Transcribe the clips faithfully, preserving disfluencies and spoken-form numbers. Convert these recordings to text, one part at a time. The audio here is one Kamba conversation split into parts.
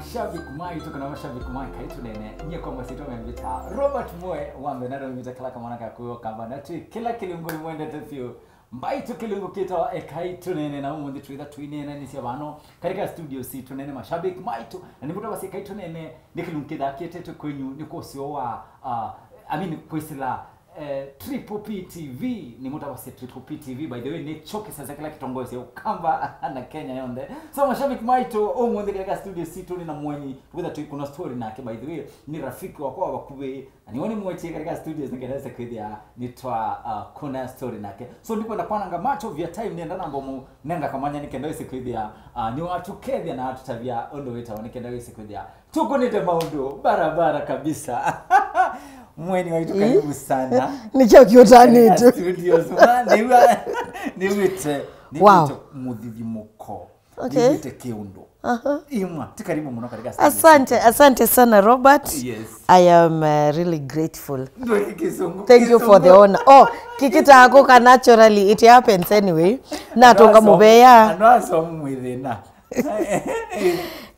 Mashabiki maitũ kana mashabiki ma Ekai Tũneene, nyie kwa masyĩtwa memvĩta Robert Mwe, wa mbee na memvĩta kala kamwana ka kũyo kamba na twĩ kĩla kĩlungu nĩmwendete vyũ. Mbaitũ kĩlungu kĩtawa Ekai Tũneene, na ũmũnthĩ twĩtha tũineenanĩsya vano katika studio sitũ nene mashabiki maitũ, na nĩmũtavasya Ekai Tũneene nĩ kĩlungu kĩthaa kĩetetwe kwenyu nĩ kwa ũseo wa, uh, I mean, kwĩsĩla eh, Triple P T V, nĩmũtavasya Triple P T V, by the way, nĩkyo kĩsese kĩla kĩtongoesya Ũkamba na Kenya yonthe. So, mashabiki maitũ, ũmũnthĩ katika studio sitũ nĩ na mwenyi, twĩtha tũikũna story nake, by the way, nĩ rafiki wakwa wa vakuvĩ, na nĩwe nĩmwetie katika studios nĩkenda ese kwĩthĩa nĩtwa, uh, kũna story nake. So, ndikwenda kwananga much of your time, nĩenda namba mũnenga kamwanya nĩkenda ese kwĩthĩa, uh, nĩwatũkethya na atũtavya ũndũ wĩtawa nĩkenda ese kwĩthĩa tũkũnĩte maũndũ barabara kabisa. Mweni waitũ, karibu sana. Nĩkyo kĩũtanĩtwe. Studios, ma, nĩw'a-, nĩw'ĩte, Wow. nĩw'ĩte mũthithimũko. Okay. Nĩw'ĩte kĩũndũ. Aha. Imwa, ti karibu mũno katika studio. Asante, asante sana, Robert. Yes. I am, uh, really grateful. Ndweke kĩsũngũ, Thank you for the kĩsũngũ. honor. Oh, kĩkĩtakuka naturally, it happens anyway. Natonga Andũ asomu, mũvea. andũ asomu mwĩ thĩna.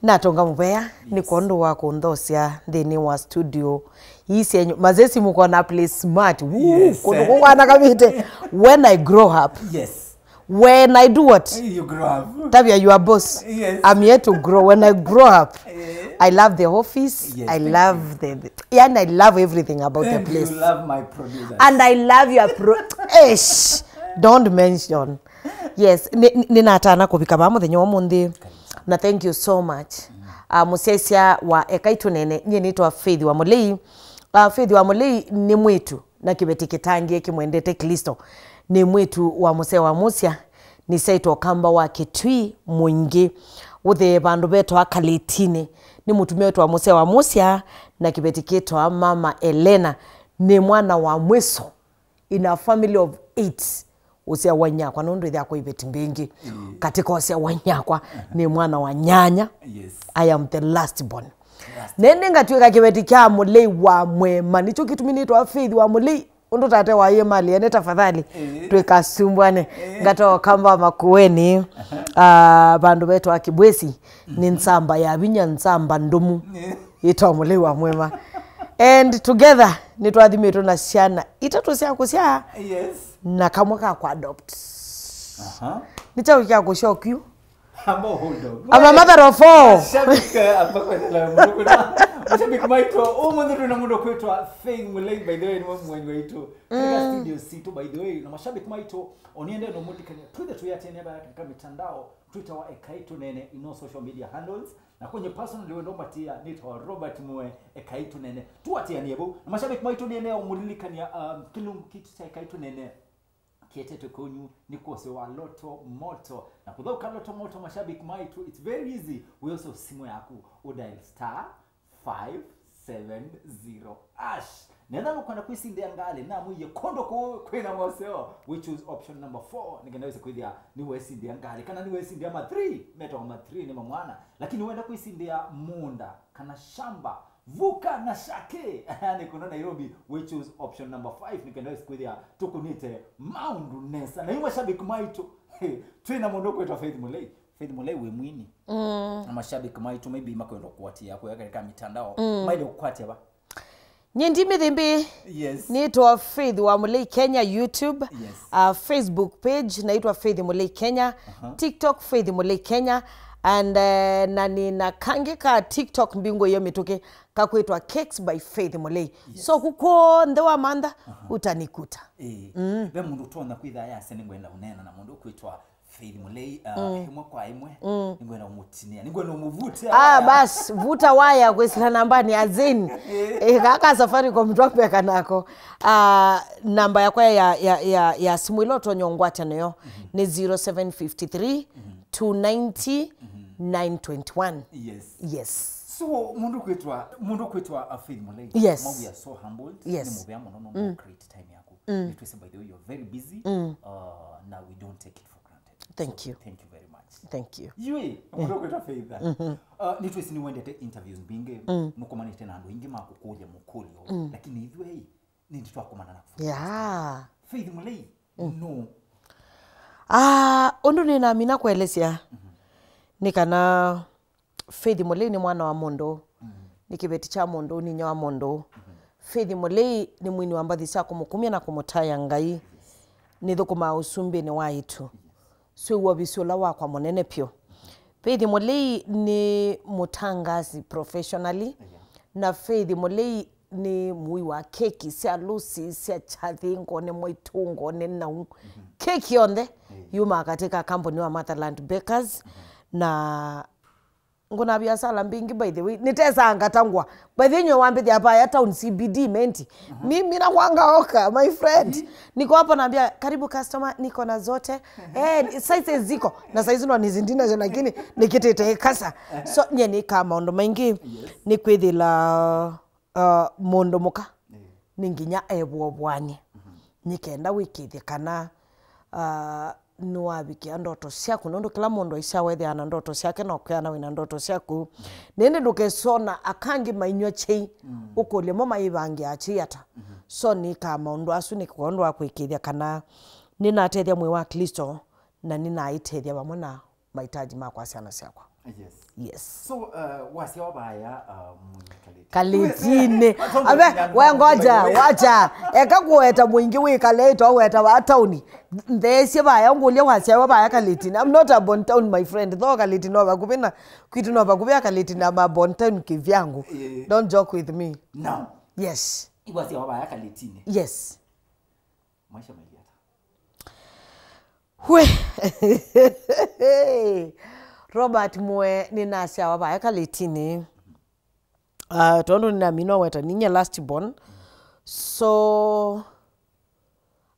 Natonga mũvea nĩ kwondũ wa kũnthosya nthĩnĩ wa studio ii syenyu. Mazesi mũkona play smart. Woo, Yes, kũndũ eh. kũkwanakavĩte. When I grow up, Yes. when I do what? You grow up. Tavia your boss. Yes. I'm here to grow. When I grow up, Eh. I love the office. Yes, I thank love you. the, the, yani, I love everything about the And place. You love my producers. And I love your pro-, Eish, don't mention. Yes, nĩ, nĩ, nĩnatana kũvika vaa mũthenya wa ũmũnthĩ. Na thank you so much. Uh, mũsyaĩĩsya wa Ekai Tũneene, nyie nĩtwa Faith wa Mũlei. Uh, Faith wa Mũlei nĩ mwĩĩtu na kĩveti kĩtangĩe kĩmwendete Klĩsto. Nĩ mwĩĩtu wa mũsee wa Musya, nĩsyaĩtwe Ũkamba wa Kĩtui Mũingĩ. Ũthee vandũ vetwa Kalĩtinĩ. Nĩ mũtumĩa wĩtwa mũsee wa Musya na kĩveti kĩtwa Mama Elena. Nĩ mwana wa mwĩso in a family of eight. Ũsea wa inyakwa, nũndũ ĩthĩakwa iveti mbingĩ. Mm. Katika ũsea wa inyakwa, nĩ mwana wa nyanya. Yes. I am the last born. Last. Nene ngatwĩka kĩveti kya Mũlei wa Mwema. Nĩkyo kĩtumi nĩtwa Faith wa Mũlei. Ũndũ tate waie mali ene tafadhali. Eh. Twĩkasumbwane. Eh. Ngatoa Ũkamba Makueni. Aha. Ah, vandũ vetwa Kibwesi. Nĩ nzamba ya vinya, nzamba ndũmu. Eh. Ĩtwa Mũlei wa Mwema. And together, nĩtwathimĩtwe na syana itatũ sya kũsyaa Yes. na kamwe ka kũadopt. Aha. Nĩ kyaũ kya kũsyokiu? Amba hold on. I'm a mother of four. Mashabiki, amba kwetela mũndũ kwĩtwa, mashabiki maitũ, ũmũnthĩ twĩna mũndũ kwĩtwa Faith Mũlei, by the way, nĩwe mwenyi waitũ. Katika Mm. studio sitũ, by the way, na mashabiki maitũ, oniende no mũndikania, twĩthe tũyatene bara katika mitandao, Twitter wa Ekai Tũneene, in all social media handles. Na kwenye personal, wendo mbatia, nĩtawa Robert Mwe, Ekai Tũneene. Tũatĩanie vau. Na mashabiki maitũ nĩenea ũmũlilikania, um, kĩlungu kitũ kya Ekai Tũneene kĩetetwe kũnyu nĩ kwa ũseo wa Lotto Moto. Na kũthaũka Lotto Moto, mashabiki maitũ, it's very easy. Wĩosa simũ yaku, ũdial star five seven zero hash. Netha nũkwenda kwĩsindĩa ngalĩ, namwĩie kũndũ kũũ kwĩna moseo, we choose option number four, nĩkenda wĩse kwĩthĩa nĩwesindĩa ngalĩ, kana nĩwesindĩa ma three, metawa ma three nĩ mamwana, lakini wenda kwĩsindĩa mũũnda, kana shamba, vuka na shake, nĩ kũno Nairobi, we choose option number five, nĩkenda wĩse kwĩthĩa tũkũnĩte maũndũ nesa. Na yu mashabiki maitũ, twĩna mũndũ kwĩtwa Faith Mũlei. Faith Mũlei wĩ mwini. Mm. Na mashabiki maitũ maybe makwenda kũatĩĩa kũya katika mitandao. Mm. Maile kũkwatĩa va? Nyie ndi mĩthĩmbĩ. Yes. Nĩtwa Faith wa Mũlei Kenya, YouTube. Yes. Uh, Facebook page naitwa Faith Mũlei Kenya. Aha. TikTok Faith Mũlei Kenya. And, uh, na nĩna kangĩ ka TikTok mbingũ iyo mĩtũkĩ kakwĩtwa Cakes by Faith Mũlei. Yes. So kũkonthe wa mantha, aha, utanikuta. Eh. Mm. Ve mũndũ ũtonya kwĩtha yase nĩngwenda ũneena na mũndũ kwĩtwa Faith Mũlei, uh, mm, ĩmwe kwa ĩmwe, mm, nĩngwenda ũmũtinĩa, nĩngwenda ũmũvute. Ah, bas, vuta waya kwĩsĩla nambani ya Zain. Eh. Eh, kaka Safaricom twakupeka nako. Ah, namba yakwa ya, ya, ya, ya simu ĩla ũtonya ũngwata nayo, mhm, nĩ zero seven fifty three, two ninety, nine twenty-one. Yes. Yes. So, mũndũ kwĩtwa, mũndũ kwĩtwa, uh, Faith Mũlei. Yes. Ma, we are so humbled. Yes. Nĩ mũvea mũno, no, mm, create time yaku. Mm. Nĩtwĩsĩ, by the way, you're very busy, mm, uh, na we don't take it for granted. Thank you. So, thank you very much. Thank you. Yui, mm, mũndũ kwĩtwa Faith. Mhm. Uh, nĩtwĩsĩ nĩwendete interviews mbingĩ, mm, nũkomanĩte na andũ aingĩ ma kũkũlya mũkũlyo. Mm. Lakini ithuĩ, nĩndĩ twakomana na Faith. Yeah. Faith Mũlei, mm, no. Ah, ũndũ nĩnamina kũelesya, mhm, nĩ kana Faith Mũlei nĩ mwana wa mũndũ, nĩ kĩveti kya mũndũ, nĩ inyia wa mũndũ. Faith Mũlei nĩ mwini wa mbathi sya kũmũkumya na kũmũtaĩa Ngai. Nĩthũkũmaa ũsumbĩnĩ wa ĩtu. Swĩw'a ũvisi ũla wakwa mũnene vyũ. Faith Mũlei nĩ mũtangaasi professionally, na Faith Mũlei nĩ mũi wa keki sya lũsi, sya kyathĩ, ngone mwaitũ, ngone nau. Keki yonthe yumaa katĩ ka kambuni wa Motherland Bakers, na nguna biasala mbingĩ, by the way. Nitesa ngatangwa. By the way, nyo wambithia hapa ya town C B D menti. Mimi nakwanga oka, my friend. Niko hapo naambia, "Karibu customer, niko na zote." Eh, sizes ziko. Na size no nizindina je, lakini nikitete kasa. So, nye nĩ ka maũndũ maingĩ. Nĩ kwĩthĩla, uh, mũndũ mũka. Nĩ nginya evũovũanie. Nĩ kenda wĩkĩthye kana, uh, nĩwavikĩa ndoto syaku, nũndũ kĩla mũndũ aisyawa ethĩawa na ndoto syake, na ũkeana wĩna ndoto syaku. Na ĩndĩ ndũkesona akangĩ mainyw'a kyei, ũkũlye mo maĩvangĩaa kyei ata. So nĩkaa maũndũ asu nĩ kwondũ wa kũĩkĩĩthya kana nĩnatethya mwĩĩ wa Klĩsto, na nĩnaĩtethya vamwe na mahitaji makwa syana syakwa. Yes. Yes. So, uh, wasyawa vaya, uh, mwĩĩ kalĩti. Kalĩtinĩ. Ave, we ngoja, wacha. Eka kũweta mũingĩ wĩkale, to weta wa tauni. Ntheesye vaya, ngũlya wasyawa vaya kalĩtinĩ. I'm not a born town, my friend. Though kalĩti no vakuvĩ na, kwitũ no vakuvĩ a kalĩti na ma born town kĩvyangu. Yeah. Don't joke with me. Now. Yes. Iwasyawa vaya kalĩtinĩ. Yes. Maisha mailyata. We. Robert Mwe, nĩnasyawa vaya kalĩtinĩ. Uh, tondũ nĩnamina weta ninyie last born. So,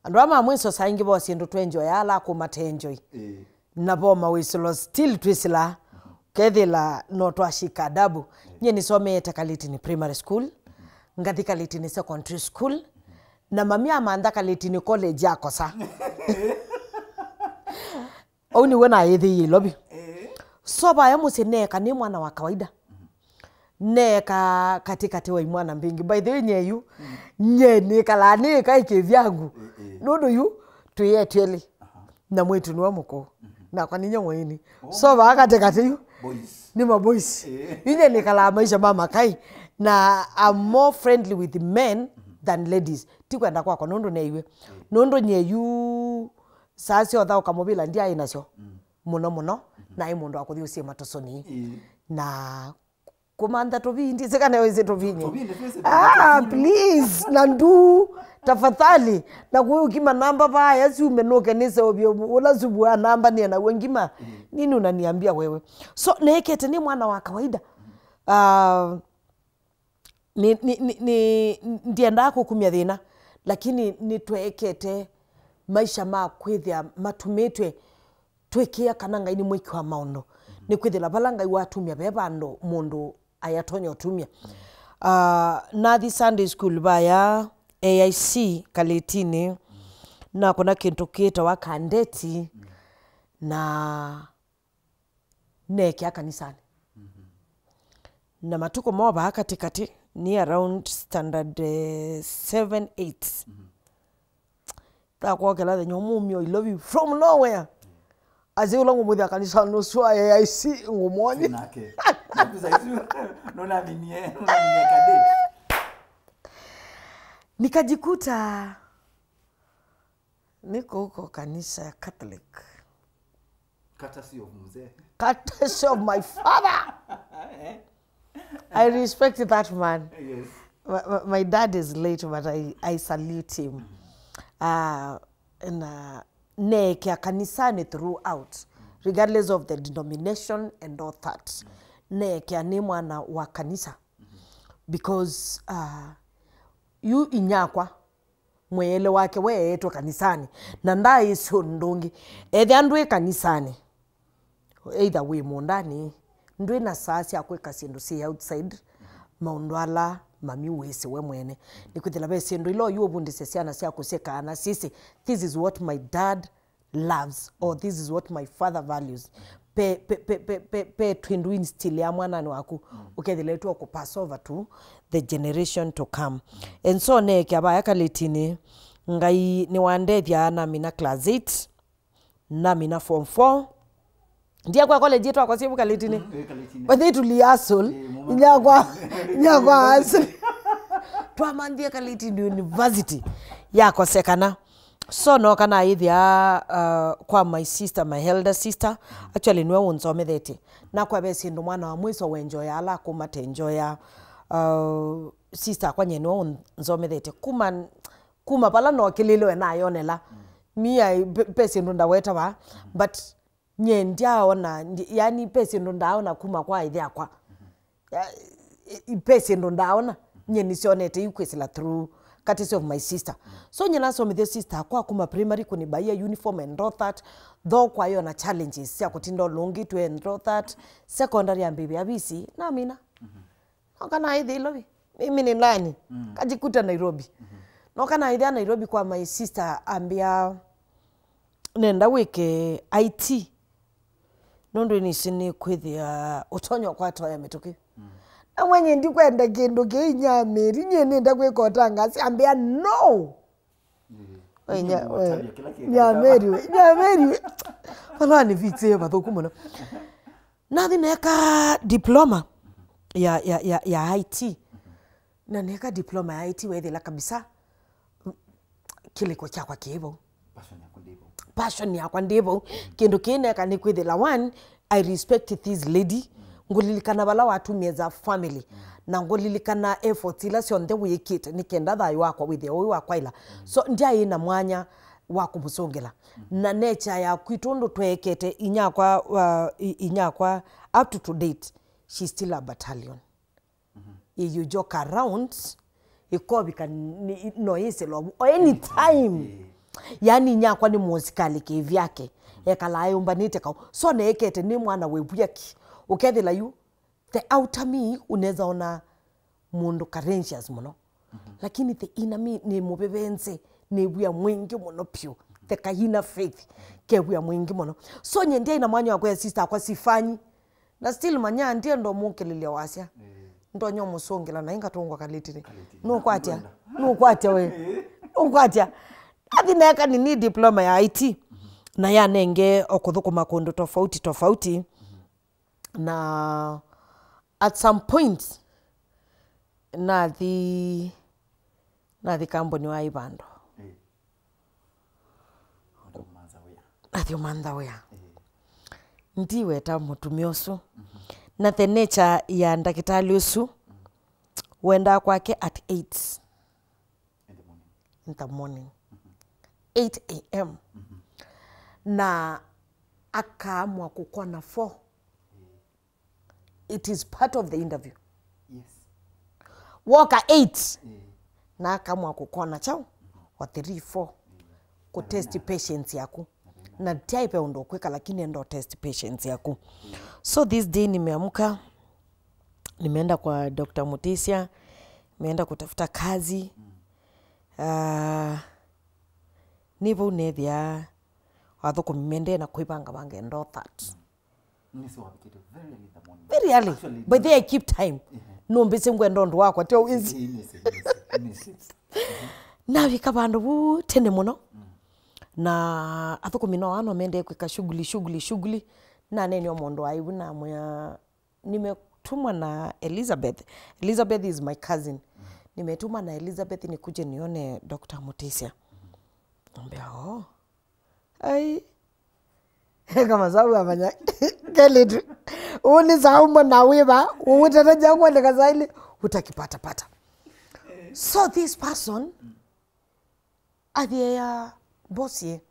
andũ aa ma mwiso saa ingĩ vo syĩndũ twenjoya ala akũma tenjoi. Ĩĩ. Na vo mawĩsĩlo still twĩsĩla, kethĩla no twashika adabu. Nyie nĩsomeete Kalĩtinĩ Primary School, ngathi Kalĩtinĩ Secondary School, na mami amantha Kalĩtinĩ College akosa. Ũu nĩw'o naĩthĩie Ilovi. So vaya mũsyĩ neeka nĩ mwana wa kawaida. Neeka katĩkatĩ wa imwana mbingĩ. By the way, nyeyu, nye nĩkalaa nĩĩka ĩkĩvyangu. Nũndũ yu, twĩ etwelĩ. Na mwĩtu nĩwe mũkũũ. Nakwa ninyie mũini. So vaa katĩkatĩ yu, boys. Nĩ maboys. Yu nye nĩkalaa maisha ma makai. Na I'm more friendly with men than ladies. Ti kwenda kwakwa, nũndũ neiwe. Nũndũ nyeyu, saa sya ũthaũka mũvĩla ndyaĩ nasyo mũno mũno, naĩ mũndũ wa kũthi ũsyĩma tũsũni. Na kũmantha tũvindi, sĩkane wĩsĩ tũvinye. Tũvindi twĩsĩ. Ah, please, na ndu, tafadhali, na kũkima namba vaya syume nũke nĩseũvye ũla suvu wa namba nĩe naw'o ngima. Nini unaniambia wewe? So, neekete nĩ mwana wa kawaida. Ah, Nĩ, nĩ, nĩ, nĩ, ndiendaa kũkumya thĩna, lakini nĩtweekete maisha ma kwĩthĩa matũmĩtwe twĩkĩa kana Ngai nĩ mwĩki wa maũndũ. Nĩkwĩthĩla vala Ngai watumya ve vandũ mũndũ ayatonya ũtumya. Ah, nathi Sunday school vaya A I C Kalĩtinĩ, nakũna kĩndũ kĩtawa kandeti, na neekĩa kanisanĩ. Na matukũ moo vaa katĩkatĩ, nĩ around standard, eh, seven, eight. Thakwokela thenya ũmwe ũmya Ilovi, from nowhere. Asyai ũla ngũmũthĩa kanisanĩ ũsu wa A I C ngũmwony'a. Nake. Naku saizi, nũnaminie, nũnaminie kadate. Nikajikuta niko huko kanisa ya Catholic. Courtesy of mzee. Courtesy of my father. I respect that man. Yes. My, my, my dad is late, but I, I salute him. Uh, na neekĩa kanisani throughout, regardless of the denomination and all that. Neekĩa nĩ mwana wa kanisa. Because, uh, yu inyakwa, mwĩĩle wake weetwe kanisanĩ, na ndaaĩsĩ ũndũ ũngĩ. Ethĩa ndwĩ kanisanĩ, either wĩ mũũndanĩ, ndwĩ na saa sya kwĩka syĩndũ syĩ outside maũndũ ala mami wĩsĩ we mwene. Nĩkwĩthĩla ve syĩndũ ila oyu ũvundĩsya syana syaku syĩkaa na syĩsĩ, "This is what my dad loves," or, "This is what my father values." Pe, pe, pe, pe, pe, pe twĩndũ instill ya mwananĩ waku, ũkethĩla ĩtwa kũ pass over to the generation to come. And so neekĩa vaya Kalĩtinĩ, Ngai nĩwandethya namina class eight, namina form four, Ndia kwa college yetu akwa siebu Kalitini. Mm, eh, Kalitini. But they to rehearsal. Eh, mama. Inya kwa, inya kwa hustle. Twamanthie Kalitini University. Yakosekana. So no kana ithia uh, kwa my sister, my elder sister. Actually niwe unzomethetye. Na kwa ve sindu mwana wa mwiso wenjoya ala kuma tenjoya. Uh, sister akwa nye niwe unzomethetye. Kuma, kuma pala no kililwe na yonela. Mi I, pe, pe sindu ndaweta va. But nye ndyaona, ndi- yani pe syĩndũ ndaaona kuma kwa ĩthe akwa. Ya, i- i- pe syĩndũ ndaaona, nye nĩsyonete yu kwĩsĩla through courtesy of my sister. So nye nasomithie sister akwa kuma primary kũnibaia uniform and all that, though kwayo na challenges sya kũtinda ũlũngĩtwe and all that. Secondary ambĩvĩa visi namina. Noka naĩthĩa Ilovi. Mimi ni nani? Mm. Kajikuta Nairobi. Mm-hmm. Noka naĩthĩa Nairobi kwa my sister ambĩa nenda wĩke I T. Nũndũ nĩsĩ nĩkwĩthĩa ũtonya ũkwatoya mĩtũkĩ. Mm. Na mwenye ndikwenda kĩndũ kĩ inyamĩri, nyie nĩnda kwĩka ũtangasi, ambĩa no. Mm. We, nya- we, nyamĩri we, nyamĩri we. Vala nĩvitsĩe vathũku mũno. Nathi neeka diploma ya, ya, ya, ya I T. Na neeka diploma ya I T wethĩla kabisa, mm, kĩlĩko kyakwa kĩ vau. Passion yakwa ndĩ vau. Passion yakwa ndĩ vau. Kĩndũ kĩĩ neeka nĩ kwĩthĩla, one, I respect this lady. Ngũlilikana vala watumie as a family. Na ngũlilikana efforts ila syonthe wĩkĩte nĩ kenda thayũ wakwa wĩthĩe ũĩ wa kwaĩla. So ndyaĩ na mwanya wa kũmũsũngĩla. Na nature ya kwitũ ũndũ tweekete, inyakwa, uh, i- inyakwa, up to, to date, she's still a battalion. You joke around, ĩkovika ni- no yĩsĩlwa vu o anytime. Yani inyakwa nĩ mũsikalĩ kĩvyake, ekalaa yũmbanĩte kau. So neekete nĩ mwana wĩ vyaki. Ũkethĩla yu, the outer me unaweza ona mũndũ courageous mũno. Lakini the inner me nĩ mũvevenze, nĩ wia mwingĩ mũno piũ. The kaina faith, ke wia mwingĩ mũno. So nye ndiaĩ na mwanya wa kwĩa sister akwa sifanyi. Na still manya ndienda ũmũkĩlĩlya wasya. Ndonya ũmũsũngĩla na ingatũngwa Kalitini. Nũkwatya? Nũkwatya we? Nũkwatya? Athi neka nini diploma ya I T. Na yanenge o kũthũkũma kũndũ tofauti tofauti. Na at some point nathi nathi kambuni wa ivando. Nathi ũmantha wĩa. Ndiweta mũtumĩa ũsu. Na the nature ya ndakĩtalĩ ũsu, wendaa kwake at eight in the morning, eight a m, na akaamua kũkona four. It is part of the interview. Woka eight, na akaamua kũkona chao wa three, four, kũtest patience yaku. Na type ya ũndũ ũkwĩka, lakini enda test patience yaku. So this day nimeamka, nimeenda kwa Doctor Mutisya, nimeenda kutafuta kazi. Ah, nĩ vau nethĩa athũkũmi mendee na kwĩvangavanga and all that. Very early. By the way, I keep time. Nũmbĩsĩ ngwenda ũndũ wakwa, tyo wĩsĩ. Navika vandũ vu tene mũno. Na athũkũmi no ano mendee kwĩka shughuli, shughuli, shughuli. Naneenea mũndũ wa ivu namwĩa, nimetumwa na Elizabeth. Elizabeth is my cousin. Nimetumwa na Elizabeth nikuje nione Doctor Mutisya. Ambĩa, oh. Ai. Eka masabu amanya. Kelitu. Uni saumba na wiba. Utataja kuandika saili. Utakipata pata. So this person athie ya boss ye.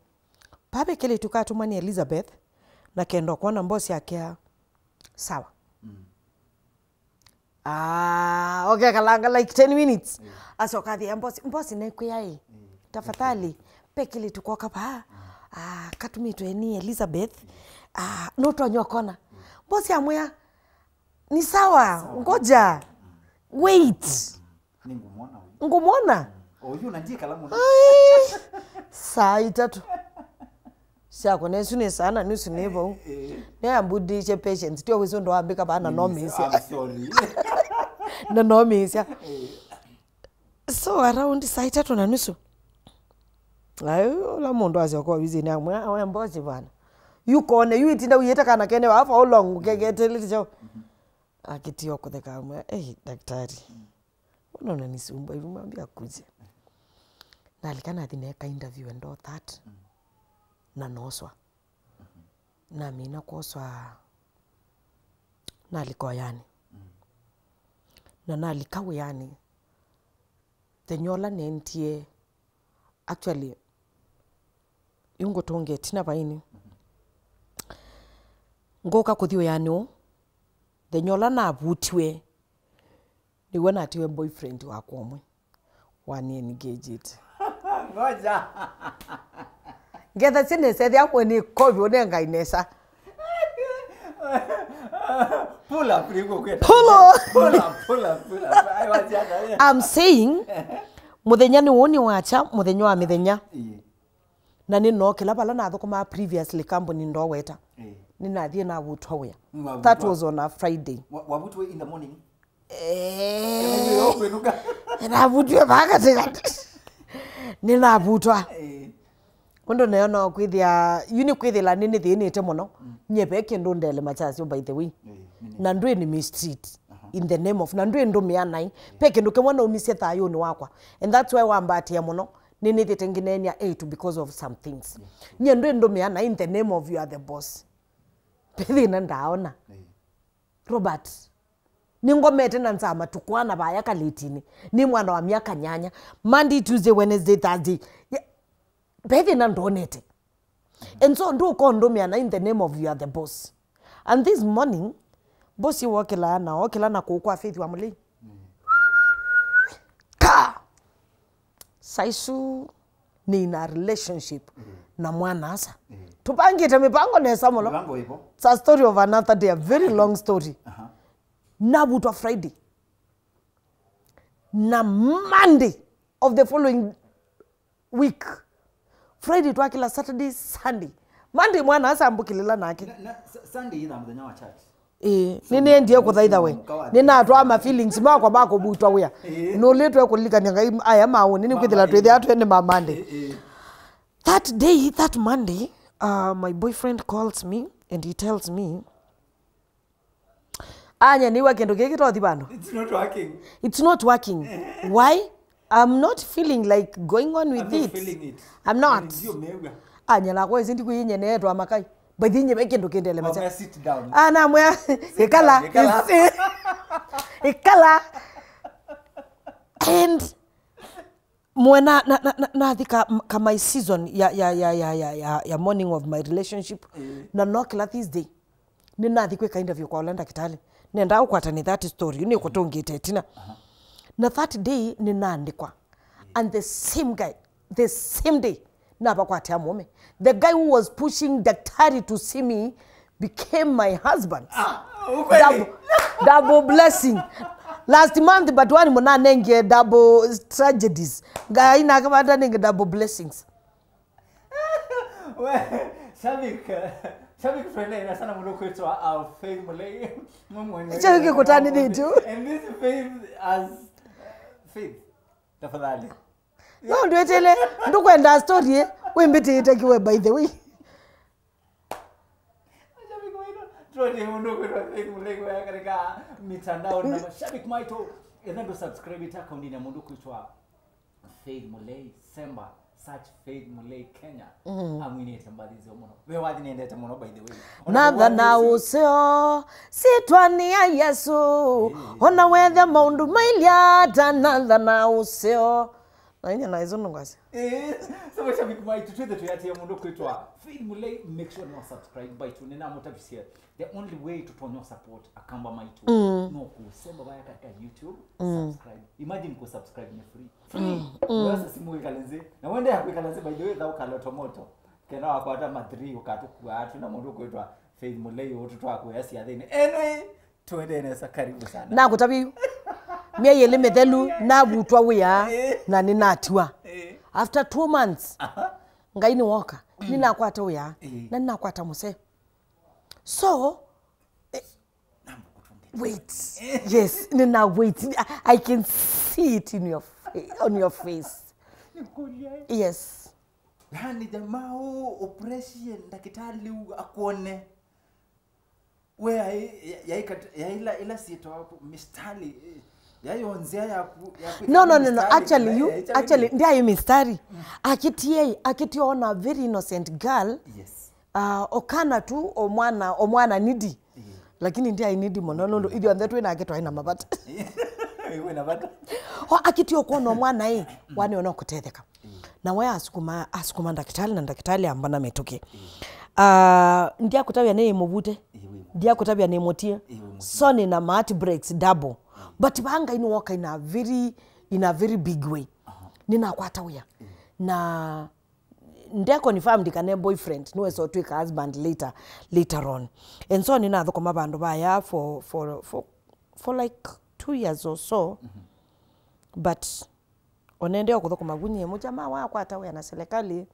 Pape kelitu katumwa ni Elizabeth. Na kendo kuona boss yake ya sawa. Ah, okay, kalanga like ten minutes. Asoka athi, mbosi, mbosi nekwĩa ĩ. Tafadhali, pe kĩlĩtu koka vaa. Ah, katumĩtwe ni Elizabeth. Ah, no twanywa kona. Mbosi amwĩa, ni sawa, ngoja. Wait. Ngũmwona. Oyu na ndiye kalamu. Ai, saa itatu. Syakwa nesu nĩ saa na nusu nĩ vau. Nĩambudisye patience, tio wĩsĩ ũndũ wambĩka vaa na nomĩĩsya. Na nomĩĩsya. So around saa itatũ na nusu, ai, ũla mũndũ asyoka ovisinĩ amwĩa, "We mbosi bwana, Yu kone, yu itinda uyĩte kana kene wa for how long, ũkegetelete chao. Akĩtia kũtheka amwe, "Ei, daktari, mbona unanisumbua hivi? Mwambie akuje." Nalika nathi neka interview and all that. Na noswa. Namina kwoswa, nalika ũyanĩ. Na nalika wĩanĩ, thenya ũla nendie, actually, yu ngũtũnge ĩtina vaini. Ngũka kũthi wĩanĩ ũũ, thenya ũla navutiwe, nĩw'o natiwe boyfriend wakwa ũmwe. Wani engaged. Ngoja. Ngetha sinese thya mwe nĩ kovi ũnengai nesa. Pull up, nĩguo kwenda. Pull up. Pull up, pull up, pull up. I was young, yeah. I'm saying, mũthenya nĩ ũũ nĩ wakya, mũthenya wa mĩthenya. Ĩĩ. Na nĩnookĩla vala nathũkũmaa previously kambuni ndoweta. Ĩĩ. Nĩnathiĩ navutwa wĩa. Nĩwavutwa. That was on a Friday. Wa-, wavutwa in the morning? Eh, navutwe vaa katikati. Nĩnavutwa. Eh. Ũndũ nayo no kwĩthĩa, yu nĩ kwĩthĩla nĩnĩthĩnĩte mũno. Mm. Nye ve kĩndũ ndele machasyo, by the way. Eh, nĩ, nĩ. Na ndwĩ nĩ mistreat in the name of, na ndwĩ ndũmĩa naĩ. Ve kĩndũ kĩmwe naumisye thayũnĩ wakwa. And that's why wambatĩa mũno. Nĩnĩthĩte ngineenea eight because of some things. Nye ndwĩ ndũmĩa naĩ in the name of you are the boss. Ve thĩna ndaona. Eh. Robert, nĩngomete na nzaa matukũ ana vaya kalĩtinĩ. Nĩ mwana wa myaka nyanya. Monday, Tuesday, Wednesday, Thursday. Ye-, ve thĩna ndonete. And so ndũkondũmĩa na in the name of you are the boss. And this morning, boss wokĩlaa na okĩla na kũũ kwa Faith wa Mũlei. Ka! Saisu nĩ in a relationship na mwana-a-asa. Tũvangĩte mĩvango nesa mũno. Mĩvango ĩvo. It's a story of another day, a very long story. Aha. Navutwa Friday. Na Monday of the following week. Friday twakĩla, Saturday, Sunday. Monday mwana-a-asa ambũkĩlĩla nake. Na, na Sa-, Sunday ĩna mũthenya wa church. Ĩĩ, nĩnĩendie kũthaitha we. Nĩnatwaa ma feelings makwa ma kũvutwa wĩa. Ĩĩ. Nũlĩtwe kũlilikany'a Ngai aya maũnĩ, nĩkwĩthĩla twĩthĩa twene ma Monday. Ĩĩ, ĩĩ. That day, that Monday, uh, my boyfriend calls me and he tells me, "Anya, nĩw'a kĩndũ kĩkĩ tothi vandũ." It's not working. It's not working. Why? I'm not feeling like going on with it. I'm not feeling it. I'm not. Ndio mew'a. Anya, nakwa ĩsĩ ndikwĩyĩnyeneetwa makai. But inye ve kĩndũ kĩndele macha. Wamwĩa, "Sit down." Ah, namwĩa, "Ĩkala." Sit down, ĩkala. Ĩkala. And mwe na, na, na, na, nathi ka, ka my season ya, ya, ya morning of my relationship. Eh. Na nokĩla this day. Nĩnathi kwĩka interview kwa ũla ndakĩtalĩ. Nendaa ũkwatane that story. Nĩkũtũngĩte ĩtina. Aha. Na that day nĩnaandĩkwa. And the same guy, the same day, navakwatĩa mũũme. The guy who was pushing daktari to see me became my husband. Ah, ukweli? Double, double blessing. Last month, but one mũnanengie double tragedies. Ngai nake vatanenge double blessings. We, shabik, shabik friend ina sana mũndũ kwĩtwa, uh, Faith Mulei. Mwe mwenye. Shabik kũtanĩthĩtio. And this Faith as, uh, Faith. Tafadhali. No, ndwetele, ndũkwenda story, eh? Wĩmbĩtĩte kiwe, by the way. Mashabiki wetu, tuonie mũndũ kwĩtwa Faith Mulei waya katika mitandao na mashabiki maitũ, enda ndo subscribe ĩte akaunti ya mũndũ kwĩtwa Faith Mulei Semba, search Faith Mulei Kenya. Amwinĩte mbathi nzeo mũno. We wathi nĩendete mũno, by the way. Natha na ũseo, sitwani ya Yesu. Ona wethe maũndũ mailya ata, natha na ũseo. Na inya na izo nũngwasya. Eh, so mashabiki maitũ, twĩthe tũyatia mũndũ kwĩtwa Faith Mulei, make sure no subscribe baitũ, nĩnamũtavisye. The only way tũtonya support akamba maitũ, mm, no kũsemba vaya katika YouTube, mm, subscribe. Imagine ku subscribe ni free. Free. Mm, mm. Wasa simu wĩkale nzĩ. Na wende ya kwĩkala nzĩ, by the way, thau kaloto moto. Kena wakwata ma three, ũkatũkua atu na mũndũ kwĩtwa Faith Mulei, ũtũ twakwĩa syathĩnĩ. Anyway, tuende nesa, karibu sana. Nakũtavya yu. Myei ĩlĩ mĩthelu, navutwa wĩa, eh, na nĩnatiwa. Eh. After two months, aha, Ngai nĩwoka. Mm. Nĩnakwata wĩa, eh, na nĩnakwata mũsee. So, eh, wait. Yes, nina wait. I, I can see it in your fa-, on your face. Yes. Yaani jamaa ũ, ũpressie ndakĩtalĩ ũ akwone. We yaĩ, yaĩ kat-, yaĩ ila, ila syĩtawa mistari, eh, yaĩ o nzĩa ya ku-, ya kwĩkala No, no, no, no. mistari, Actually, kana you, yaĩ challenge. actually, ndyaĩ mistari. Akĩtie, akĩtie ona very innocent girl. Yes. Uh, okana tu o mwana, o mwana needy. Lakini ndyaĩ needy mũno nũndũ ithyonthe twĩ nake twaĩ na mavata. Wĩ na vata. O akĩtie ũkwona o mwana ĩ, wane ona kũtetheka. Na we asukuma, asukuma ndakĩtalĩ na ndakĩtalĩ ambana mĩtũkĩ. Ah, ndyakũtavya nĩ mũvute. Ndyakũtavya nĩ mũtie. So nĩ na heartbreaks double. But vaa Ngai nĩwoka in a very, in a very big way. Nĩnakwata wĩa. Na nde confirmed kana e boyfriend, nĩwesa ũtwĩka husband later, later on. And so nĩnathũkũma vandũ vaya for, for, for, for like two years or so. But onende o kũthũkũma vu nyie, mũjamaa wakwata wĩa na serikali,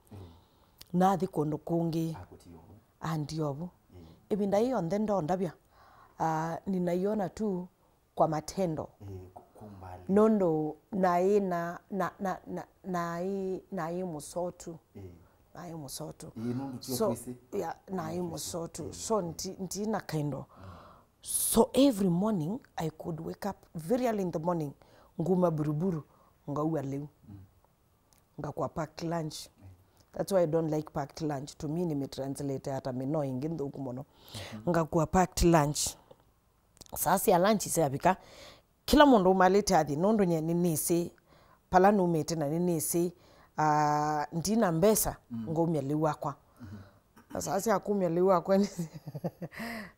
nathi kũndũ kũngĩ. Andiovu. Ĩvinda yĩ yonthe ndondavya, ah, ninaiona tu kwa matendo. Nũndũ naĩ na, na, na, na, naĩ, naĩ mũsotu. Naĩ mũsotu. So, yeah, naĩ mũsotu. So, nti-, ntina kaindo. So, every morning, I could wake up very early in the morning, nguma buruburu, ngaua lĩu. Ngakua packed lunch. That's why I don't like packed lunch. To me, nĩmĩtranslate ata mĩnoo ĩngĩ nthũku mũno. Ngakua packed lunch. Saa sya lunch syavika, kĩla mũndũ umalĩte athi, nũndũ nye nĩnĩsĩ pala numĩte na nĩnĩsĩ, ah, ndina mbesa, ngaumya lĩu wakwa. Na saa sya kumya lĩu wakwa,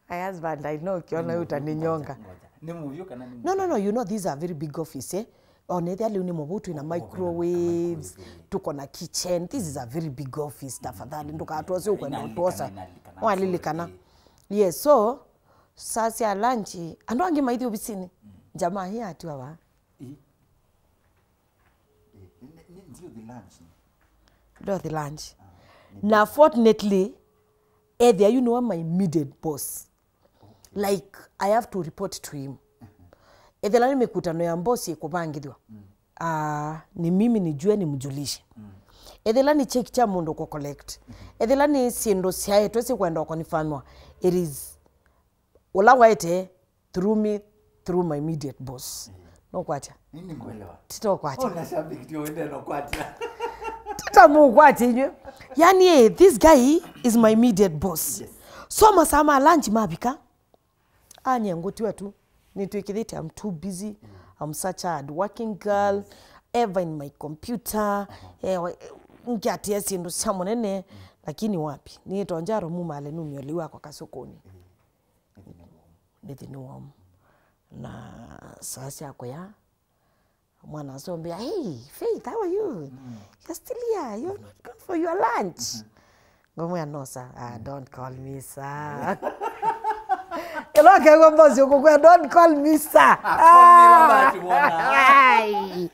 my husband, I know, ũkĩona yu ta nĩ nyonga. Nĩ mũvyũ kana nĩ No, no, no, you know, these are very big office, eh? Onethia lĩu nĩ mũvũtũ na microwaves, tuko na kitchen. This is a very big office, tafadhali. Ndũkatwose ũkwenda ũtwosa. Walilikana. Yes, so, saa sya lunch, andũ angĩ maithi ovisinĩ. Jamaa hii atiwa va. Ndio the lunch. Na fortunately, ethĩa yu nĩwe my immediate boss. Like, I have to report to him. Ethĩla nĩ mĩkutano ya boss ĩkũvangĩthw'a, ah, ni mimi nijue nimjulishe. Ethĩla nĩ check kya mũndũ kũ collect. Ethĩla nĩ syĩndũ syaetwe sikwenda kũkonfirmwa, it is ũla waete through me, through my immediate boss. Nũkwatya? Nini ngwelewa? Titokwatya. Ona shabiki ndio wende no kwatya. Titamũkwatya inywe. Yani, eh, this guy is my immediate boss. Yes. So masaa ma lunch mavika, anye ngũtiwa tu. Nĩtwĩkĩthĩte, I'm too busy. I'm such a hard working girl. Ever in my computer. Eh, wa-, ngĩatĩa syĩndũ sya mũnene. Lakini wapi? Nĩtonjaro mumale numio lĩu akwa kasũkũnĩ. Nĩthi nĩ warm. Na saa sya kũya, mwana asombea, "Hey, Faith, how are you? You're still here. You've not gone for your lunch." Ngomwĩa, "No, sir. Ah, don't call me sir." Ĩla ũkew'a boss ũkũkwĩa, "Don't call me sir." Ah, call me Robert, bwana. Ai.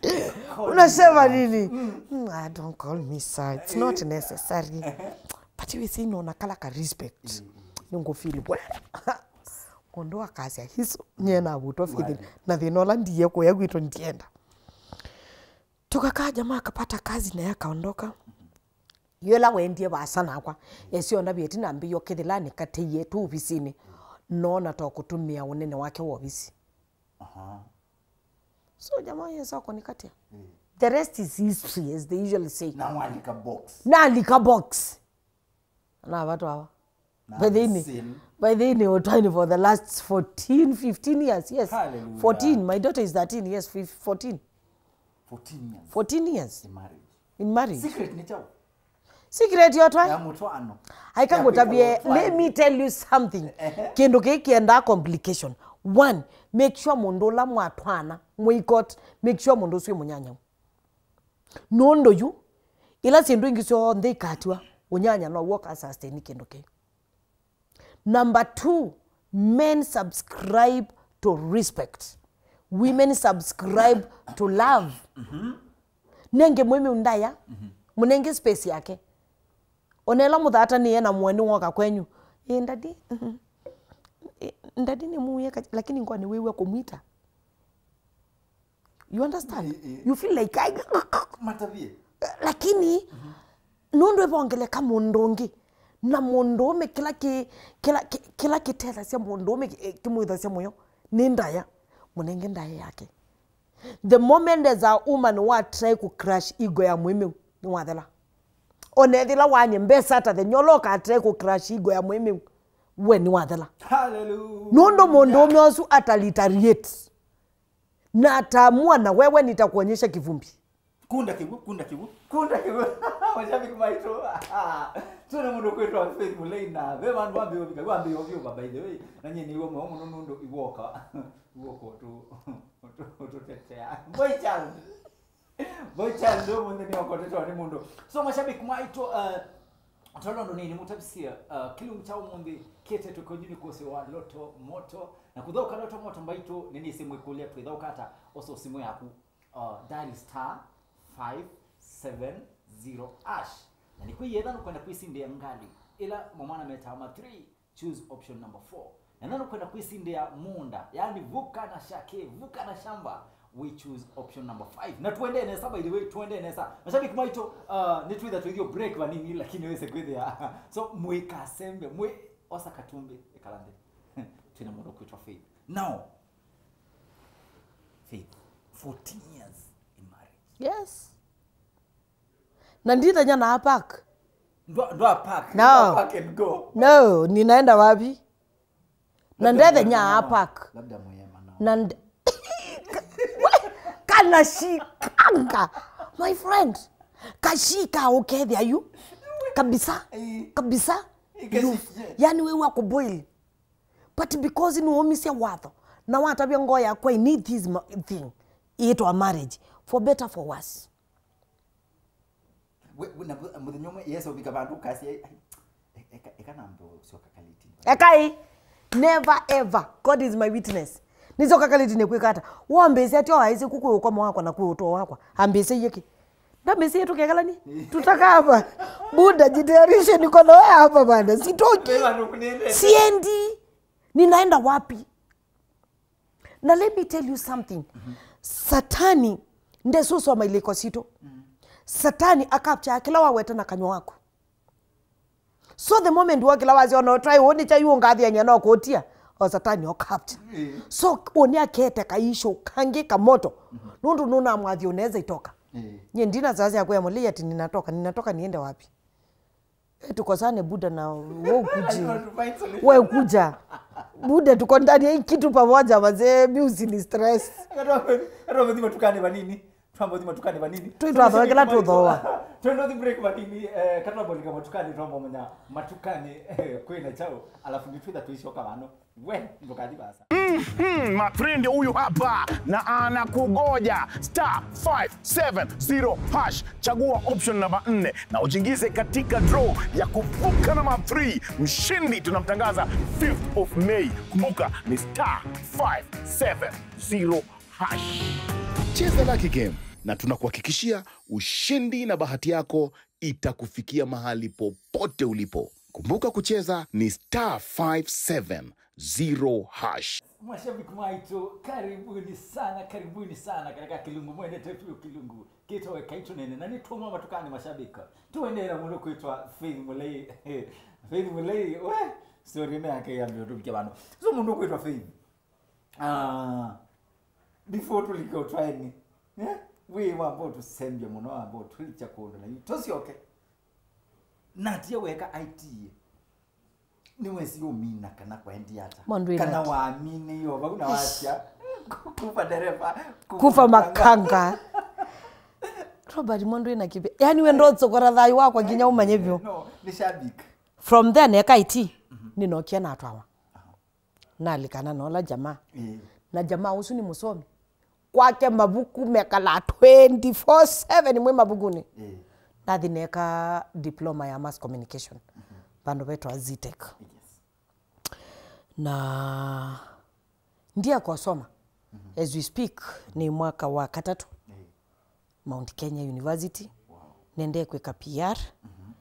Unasema nini? "Mm, ah, don't call me sir. It's not necessary." But you see, nona kala ka respect. Nĩngũfeel well. Mũndũ akasya, "Hiso, nyie navutwa fithin, na thĩna ũla ndiye kũya kwitũ ndienda." Tukakaa, jamaa akapata kazi na yakaondoka. Yola wendie vasa nakwa, esionda vyeti na mbio kithilani kateiye tu ofisinĩ. Nona to kutumia unene wake wa ofisi. Aha. So jamaa Yesu akonikatia. The rest is history, as they usually say. Na walika box. Nalika box. Na watu hawa. By the way, by the way, we're trying for the last fourteen, fifteen years, yes. Hallelujah. Fourteen. My daughter is thirteen, yes, fif-, fourteen. Fourteen years. Fourteen years. In marriage. In marriage. Secret nĩ kyaũ? Secret yotwa? Ya mũtwaano. Aikangũtavye, let me tell you something. Ehe. Kĩndũ kĩĩ kĩendaa complication. One, make sure mũndũ ũla mwatwaana, mwĩ court, make sure mũndũ ũcio mũnyanyau. Nũndũ yu, ila syĩndũ ingĩ syonthe ikatiwa, ũnyanya now'o ũka sustain kĩndũ kĩu. Number two, men subscribe to respect. Women subscribe to love. Nenge mwĩmĩu ndaya, mũnenge space yake. Ona ĩla mũthatanĩe na mũeni woka kwenyu, "Ĩ, daddy, mhm. Ĩ, daddy nĩmuie ka-, lakini ngwa nĩwĩw'a kũmwita." You understand? Eh, eh. You feel like, I, Matavie. Lakini, mhm, Nũndũ ĩvongeleka mũndũ ũngĩ, na mũndũũme kĩla kĩ-, kĩla, kĩ-, kĩla kĩtethasya mũndũũme kĩ-, kĩmwĩthasya mũyo nĩ ndaĩa, mũnenge ndaĩa yake. The moment as a woman wa try kũ crush ego ya mũĩmeu, nĩwathela. Ona ethĩla wanyie mbesa ata the nyola ũka try kũ crush ego ya mũĩmeu, we nĩwathela. Hallelujah. Nũndũ mũndũũme ũsu ata retaliate. Na ataamua na wewe nitakuonyesha kivumbi. Kunda kĩw'ũ, kunda kĩw'ũ, kunda kĩw'ũ. Mashabiki maitũ. Twĩna mũndũ kwĩtwa Faith Mũlei na ve vandũ wambĩĩa ũvika, wambĩĩa ũvyũva by the way. Na nyie nĩw'o mweũ mũno nũndũ iwoka. Iwoka ũtũ-, ũtũ-, ũtũtetea. Boy child. Boy child ũmũnthĩ nĩokotetwa nĩ mũndũ. So mashabiki maitũ, uh, tolondo nini mutavisie, uh, kĩlungu kya ũmũnthĩ kĩtetwe kwenyu nĩ kũsĩ wa Loto Moto. Na kũthaũka Loto Moto mbaitũ nĩnĩsĩ mwĩkũlya twĩthaũka ata osa simũ yaku. Uh, dial star five seven zero hash. Na nĩkwĩ yetha nũkwenda kwĩsindĩa ngalĩ ĩla mamwana metaa ma three, choose option number four. Na ĩtha nũkwenda kwĩsindĩa mũũnda, yani vuka na shake, vuka na shamba, we choose option number five. Na tuendee nesa, by the way, tuendee nesa. Mashabiki maitũ, uh, nĩtwĩtha twĩthio break vanini, lakini wĩse kwĩthĩa. So, mwĩkasembe, mwĩ osa katumbĩ, ĩkala nthĩ. Twĩna mũndũ kwĩtwa Faith. Now, Faith, fourteen years in marriage. Yes. Na ndithenyanaa park. Ndwa, ndwa park. No. Park and go. No, ninaenda wapi? Na ndethenyaa park. Labda mwema nao. Na nd- kanashikanga, my friend. Kashika ukethia yu. Kabisa. Eh. Kabisa. Ikashika. Yani we wa kuboil. But because nĩwaumisye watho na watavya ngoo yakwa, I need this ma- thing, ĩtwa marriage, for better, for worse. We, we, na mũthenya ũmwe Yesu ũvika vandũ ũkasya, "Ai, eka, eka nambe ũsyoka kaliti." Ekai, never ever, God is my witness. Nĩsyoka kaliti nĩkwĩka ata? Wambĩsya atĩ oaĩsĩ kũ kwĩ ũkomo wakwa na kwĩ ũtũo wakwa. Ambĩsya iye kĩ? Ndambĩsya iye tũkekalani? Tutakava. Buda, jitayarishe, niko na wewe hapa bana. Sitoki. Wĩva nũkũnĩndete? Siendi. Ninaenda wapi? Na let me tell you something. Satani ndesusoma ilĩko sitũ. Satani akaptya kĩla waweta na kanyw'a waku. So the moment wokĩla wasya ona ũtwaĩ ũũ nĩ kya yu ũngathiany'a no kũtia, o Satani okaptya. So ũnĩ akete kaisho kangĩ kamoto. Nũndũ nũnamwathi unaweza itoka. Nyie ndina sasa ya kuya Mũlei ati ninatoka, ninatoka niende wapi? Eh, tukosane Buda na wewe ukuje. Wewe kuja. Buda, tuko ndani ya hii kitu pamoja, wazee, mi usini stress. Katoa mthima tukane vanini. Twamba thima tukane vanini. Twĩ twathoekela tũthooa. Twende thi break vanini. Eh, katwambolika matukani twamba manya matukani, eh, kwĩna chao. Alafu nitwitha tuishoka vano. We, ndũkathi vasa. Hmm, ma friend huyu hapa na anakugoja. Star five seven zero hash. Chagua option namba nne na ujiingize katika draw ya kuvuka namba three. Mshindi tunamtangaza fifth of May. Kumbuka ni star five seven zero hash. Cheza Lucky Game na tunakuhakikishia ushindi na bahati yako itakufikia mahali popote ulipo. Kumbuka kucheza ni star five seven zero hash. Mashabiki maitũ, karibuni sana, karibuni sana katika kĩlungu mwendete vyũ, kĩlungu kĩtawa Ĩkai Tũneene. Na nĩtwauma matukani mashabiki. Tũendeea mũndũ kwĩtwa Faith Mũlei. Faith Mũlei, we, story ĩno yake yambĩĩa ũtũvikya vano. So mũndũ kwĩtwa Faith. Ah, before tũlike ũtwaĩnĩ, eh? Wĩ wamba ũtũsembya mũno, wamba ũtũlikya kũndũ na yu. Tũsyoke. Natia weka I T. Nĩwesi ũmina kana kwaendie ata? Mũndũ ĩna kana waminĩie o vau na wasya, "Kufa dereva, kufa makanga." Robert, mũndũ ĩna kĩvya. Yaani we ndũtsokora thayũ wakwa nginya ũmanye vyũ. No, nĩ shabik. From there, neka I T, nĩnokie natwawa. Nalikana na ũla jamaa. Ĩĩ. Na jamaa ũsu nĩ mũsomi. Kwake mavuku mekalaa twenty-four seven mwĩ mavukunĩ. Ĩĩ. Nathi neka diploma ya mass communication. Mhm. Vandũ vetwa Zetech. Yes. Na ndiakosoma. Mhm. As we speak, nĩ mwaka wa katatũ. Ĩĩ. Mount Kenya University. Wow. Nendee kwĩka P R. Mhm.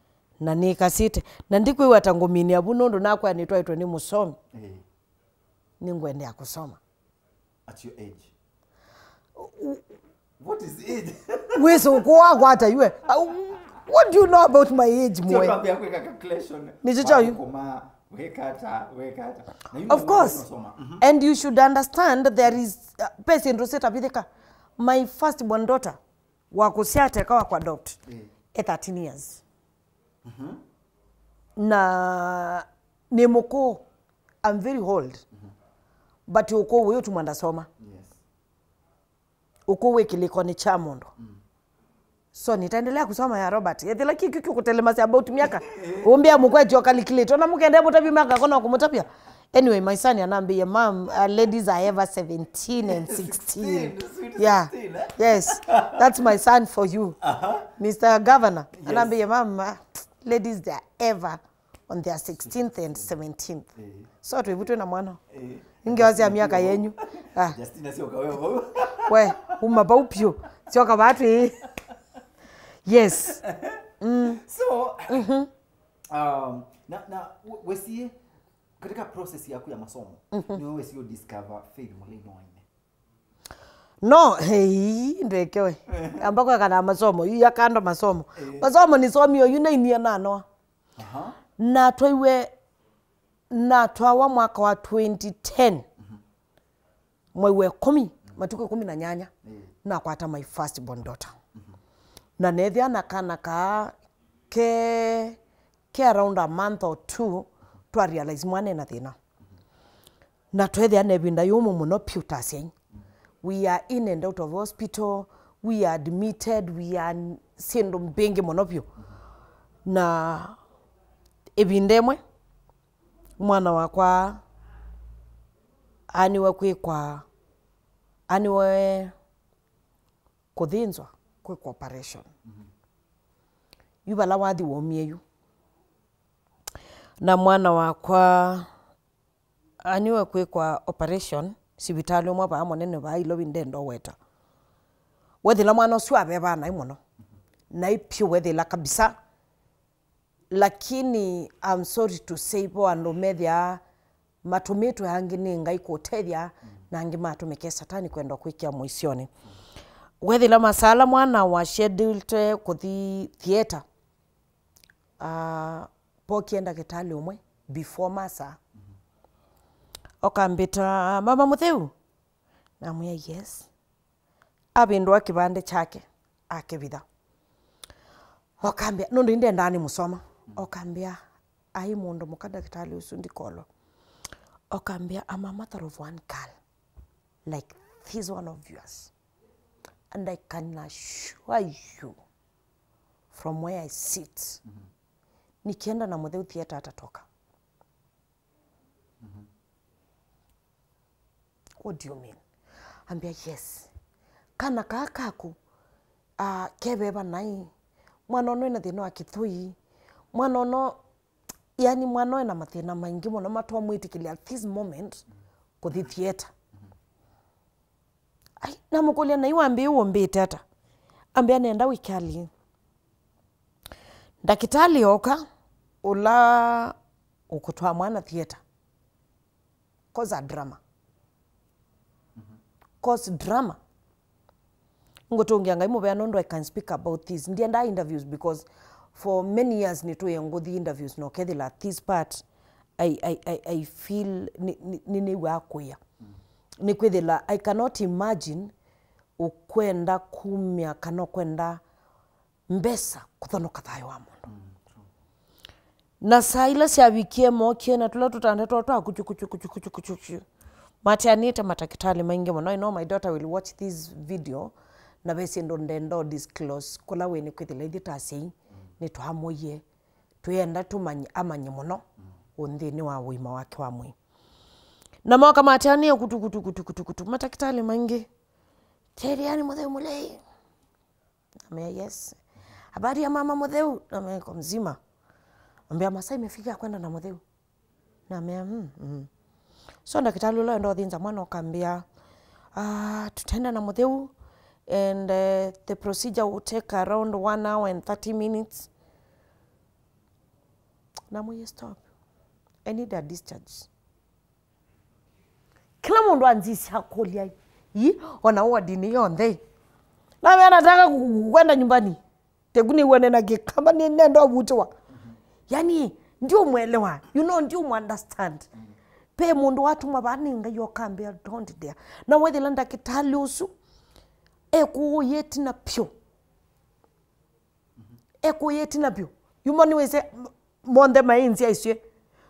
Na nĩkasĩte. Na ndikwĩw'a ta ngũminĩa vu nũndũ nakwa nĩtwaĩtwe nĩ mũsomi. Ĩĩ. Nĩngwendea kũsoma. At your age. What is age? Wĩsĩ ũkũũ wakwa ata iwe? Au, What do you know about my age, Sio mwe? Tuambia kuweka calculation. Ni chocho yu. Kuma, weka ata, weka ata. Na yuma Of course. Unasoma. Mhm. And you should understand there is uh, pesa ndo setavithika. My first born daughter wa kusiateka wa kwa adopt. Eh. E thirteen years. Na ni mukuu. I'm very old. But ukuu uyu tumwa ndasoma. Yes. Ukuu wĩ kĩlĩkonĩ kya mũndũ. So nitaendelea kusoma ya Robert. Ethĩla kĩkĩ kĩkũtelemasya about myaka. Ũmbĩa mũkwetyo calculate. Ona mũkendea mũtavya myaka kona kũmũtavya. Anyway, my son anambĩie, "Mom, uh, ladies are ever seventeen and sixteen." Sixteen, sweet Yeah. sixteen, eh? Yes. That's my son for you. Aha. Mister Governor, Yes. Anambĩie, "Mom, uh, ladies, they are ever on their sixteenth and seventeenth." Eh. So twĩvutwe na mwana. Eh. Ningewazia miaka yenyu. Ah, Justina sio kawevo. we, uma vau piũ. Syoka vatu. Yes. So, um, na, na we- wesie katika process yaku ya masomo, ni wewe wesie discover Faith Mulei no aine. No, hei, ndwekewe. Amba kweka na masomo, yu ya kando masomo. Masomo nisomie yu nainie nanoa. Aha. Natwaiwe, natwawa mwaka wa twenty ten. Mwei wa ĩkũmi, matukũ ĩkũmi na nyanya, nakwata my first born daughter. Na nethĩa na kana kaa ke, ke around a month or two, twa realize mwana ena thĩna. Na twethĩa na ĩvinda yũmũ mũno piũ ta asyai. We are in and out of hospital, we are admitted, we are syĩndũ mbingĩ mũno piũ. Na ĩvinda ĩmwe, mwana wakwa aniwe kwĩkwa, aniwe kũthĩnzwa, kwĩkwa operation. Yu vala wathi waumie yu. Na mwana wakwa aniwe kwĩkwa operation sivitalĩ ũmwe vaa mũnene vaa Ilovi ndendoweta. Wethĩla mwana ũsu avevaa naĩ mũno. Naĩ piũ wethĩla kabisa. Lakini I'm sorry to say, vo andũ methĩaa matũmĩtwe angĩ nĩ Ngai kũtethya, na angĩ matũmĩke Satani kwenda kwĩkĩa mũisyonĩ. Wethĩla masala mwana wa scheduled kũthi theater, ah, pokie ndakĩtalĩ ũmwe before masa. Okambĩta, "Mama Mũtheu?" Namwĩa, "Yes." Avĩndũa kĩvandĩ kyake, akĩvitha. Okambĩa, nũndũ indendaa nĩ mũsoma. Okambĩa, "Ai mũndũ mũka ndakĩtalĩ ũsu ndikolwa." Okambĩa, "I'm a mother of one girl, like this one of yours. And I can assure you, from where I sit, nikienda na Mũtheu theater atatoka." "What do you mean?" Ambĩa, "Yes. Kana kaa kaku, ah, keveva naĩ. Mwana ũno ena thĩna wa kĩthũi. Mwana ũno, yani mwana ũno ena mathĩna maingĩ mũno matwamwĩtĩkĩlya at this moment kũthi theater." Ai, namũkũlya, "Naĩ wambĩĩe ũmbĩte ata?" Ambĩa, "Nenda wĩkali." Ndakĩtalĩ oka, ũla ũkũtwaa mwana theater. Cause a drama. Cause drama. Ngũtũngĩa Ngai mũvea nũndũ I can speak about this. Ndiendaa interviews because for many years nĩtũĩe ngũthi interviews na ũkethĩla this part I, I, I, I feel nĩ, nĩ, nĩ, nĩw'aa kũĩa. Nĩkwĩthĩla I cannot imagine ũkwenda kumya kana ũkwenda mbesa kũthonoka thayũ wa mũndũ. Na saa ila syavikie, mokie na tũla tũtanda twoo twa kuchu, kuchu, kuchu, kuchu, kuchu, kuchu. Mateanĩte matakĩtalĩ maingĩ mũno. I know my daughter will watch this video, na ve syĩndũ ndenda disclose kũla wĩ, nĩkwĩthĩla ithyĩ ta asyai nĩtwamũie, twĩenda tũmanye, amanye mũno ũnthĩnĩ wa ũima wake wa mwĩĩ. Na moka mateanĩe kutu, kutu, kutu, kutu, kutu, matakĩtalĩ maingĩ. Teliani Mũtheu Mũlei. Namea, "Yes." "Habari ya mama Mũtheu?" Namea, "Iko mzima." Ambia, "Masaa imefika ya kwenda na Mũtheu." Namea, "Mm, mm." So ndakĩtalĩ ũla wenda ũthĩnza mwana ũkambia, "Ah, tutaenda na Mũtheu and uh, the procedure will take around one hour and thirty minutes." Namwĩie, "Stop. I need a discharge." Kĩla mũndũ anzisya kũlya, "Ii, ona wodinĩ yonthe?" Namea, "Nataka ku-, ku-, kwenda nyumbani." Teku nĩw'o nena Kĩkamba, nĩ nenda ũvutĩwa. Yani, ndiũmwelewa. You know, ndiũmũunderstand. Pe mũndũ watũma vaa nĩ Ngai ũkambĩa, "Don't dare." Na wethĩla ndakĩtalĩ ũsu ekũũya ĩtina vyũ. Ekũũya ĩtina vyũ. Yuma nĩwĩsĩ m-, monthe maĩ nzĩa isyĩ.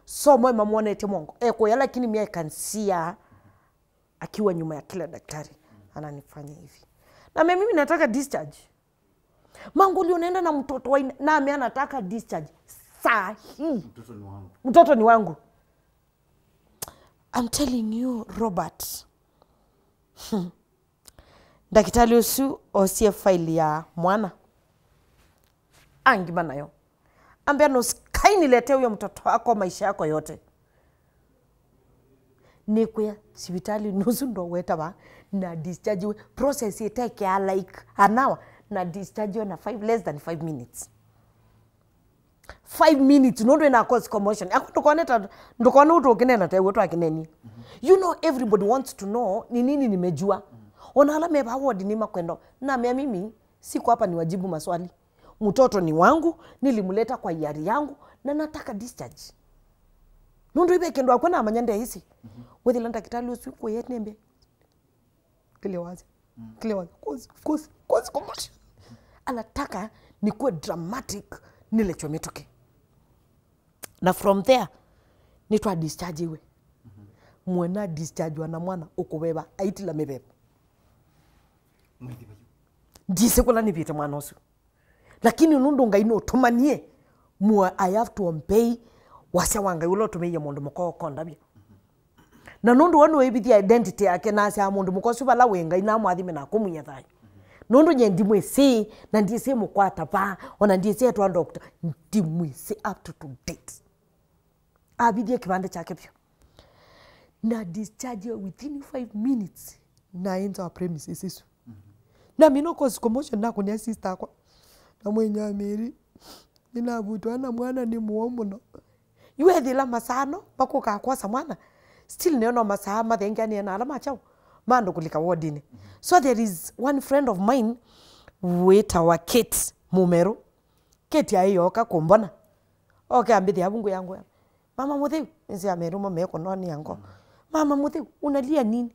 So moĩ mamwonetye mongo. Ekũũya, lakini me I can see her akiwa nyuma ya kila daktari. Ananifanya hivi. Na me mimi nataka discharge. Manguli, unaenda na mtoto wa ina-, nami anataka discharge. Saa hii. Mtoto ni wangu. Mtoto ni wangu. I'm telling you, Robert. Hmm. Ndakitali ũsu osie faili ya mwana. Angima nayo. Ambia, "Nũsikai nilete huyo mtoto wako maisha yako yote." Nĩkwĩa sivitali nũsu ndowetava na discharge we. Process ĩtekea like an hour na discharge we na five, less than five minutes. Five minutes, nũndũ ĩna cause commotion. Ako ndũkone ta, ndũkone ũtũ ũkĩnena ta ĩw'o twakĩnenie. You know, everybody wants to know ni nini nimejua. Ona ala me vaa ward nĩ makwenda. Na mea mimi, siko hapa niwajibu maswali. Mtoto ni wangu, nilimleta kwa hiari yangu, na nataka discharge. Nũndũ ive kĩndũ akwe namanya ndeĩsĩ. Wethĩla ndakitali ũsu kũye nembe. Kile wazi. Kile wazi. Cause, cause, cause commotion. Anataka nikuwe dramatic, nilechwe mĩtũkĩ. Na from there, nĩtwa discharge iwe. Mwana discharge wa na mwana ũkũveva, aitila mĩveva. Ndisĩ kũla nĩvĩte mwana ũsu. Lakini nũndũ Ngai nũtũmanie, mwa-, I have to obey wasya wa Ngai ũla ũtũmĩie mũndũ mũka ũkondavya. Na nũndũ we nĩwĩvithya identity yake, na asyaa mũndũ mũka ũsu vala wĩ, Ngai namwathime na kũmwia thayũ. Nũndũ nye ndimwĩsĩ, na ndyĩsĩ mũkwata va, ona ndyĩsĩ etwa doctor, ndimwĩsĩ up to, to date. Avithie kĩvandĩ kyake vyũ. Na discharge within five minutes. Na ĩnza wa premises isu. Na mina cause commotion nakũnia sister akwa. Na mwenye wa Mary. Ninavutwa na mwana nĩ mũo mũno. Yu ethĩla masaa no makũkaa kwosa mwana. Still nĩona masaa mathengeanie na ala ma kyaũ. Ma andũ kũlika wardinĩ. So there is one friend of mine wĩtawa Kate Mũmerũ. Kate aĩ yoka kũmbona. Oke ambĩthĩa vungũ ya ngũya. "Mama Mũtheu," nĩsĩ amerũmo mekũnonia ngo. "Mama Mũtheu, unalia nini?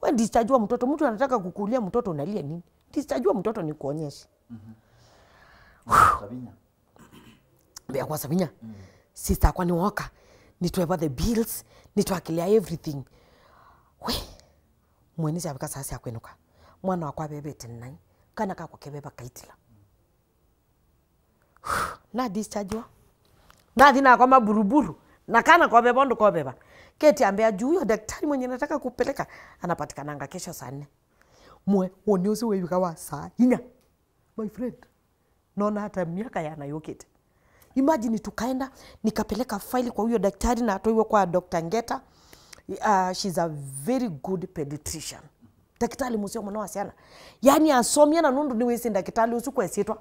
We discharge wa mtoto, mtu anataka kukulia mtoto, unalia nini? Discharge wa mtoto ni kuonyeshe." Sabinya. Mbea kwa Sabinya. Sister akwa nĩwoka. Nĩtweva the bills, nĩtwakĩlĩa everything. We, mwene syavika saa sya kwĩnũka. Mwana wakwa avevete nai. Kana kakwa keveva kaitila. Na dischargewa. Nathi nakoma buruburu. Na kana koveva ũndũ koveva. Kate ambia, "Juu huyo daktari mwenye nataka kupeleka anapatikananga kesho saa nne." Mwe, woni ũsu wĩvika wa saa inya. My friend. Naona hata miaka yana yũkĩte. Imagine tukaenda, nikapeleka faili kwa huyo daktari na atwaiwe kwa Doctor Ngeta. Uh, she's a very good pediatrician. Ndakĩtalĩ mũseo mũno wa syana. Yaani asomie na nũndũ nĩwĩsĩ ndakĩtalĩ ũsu kwa ĩsyĩtwa.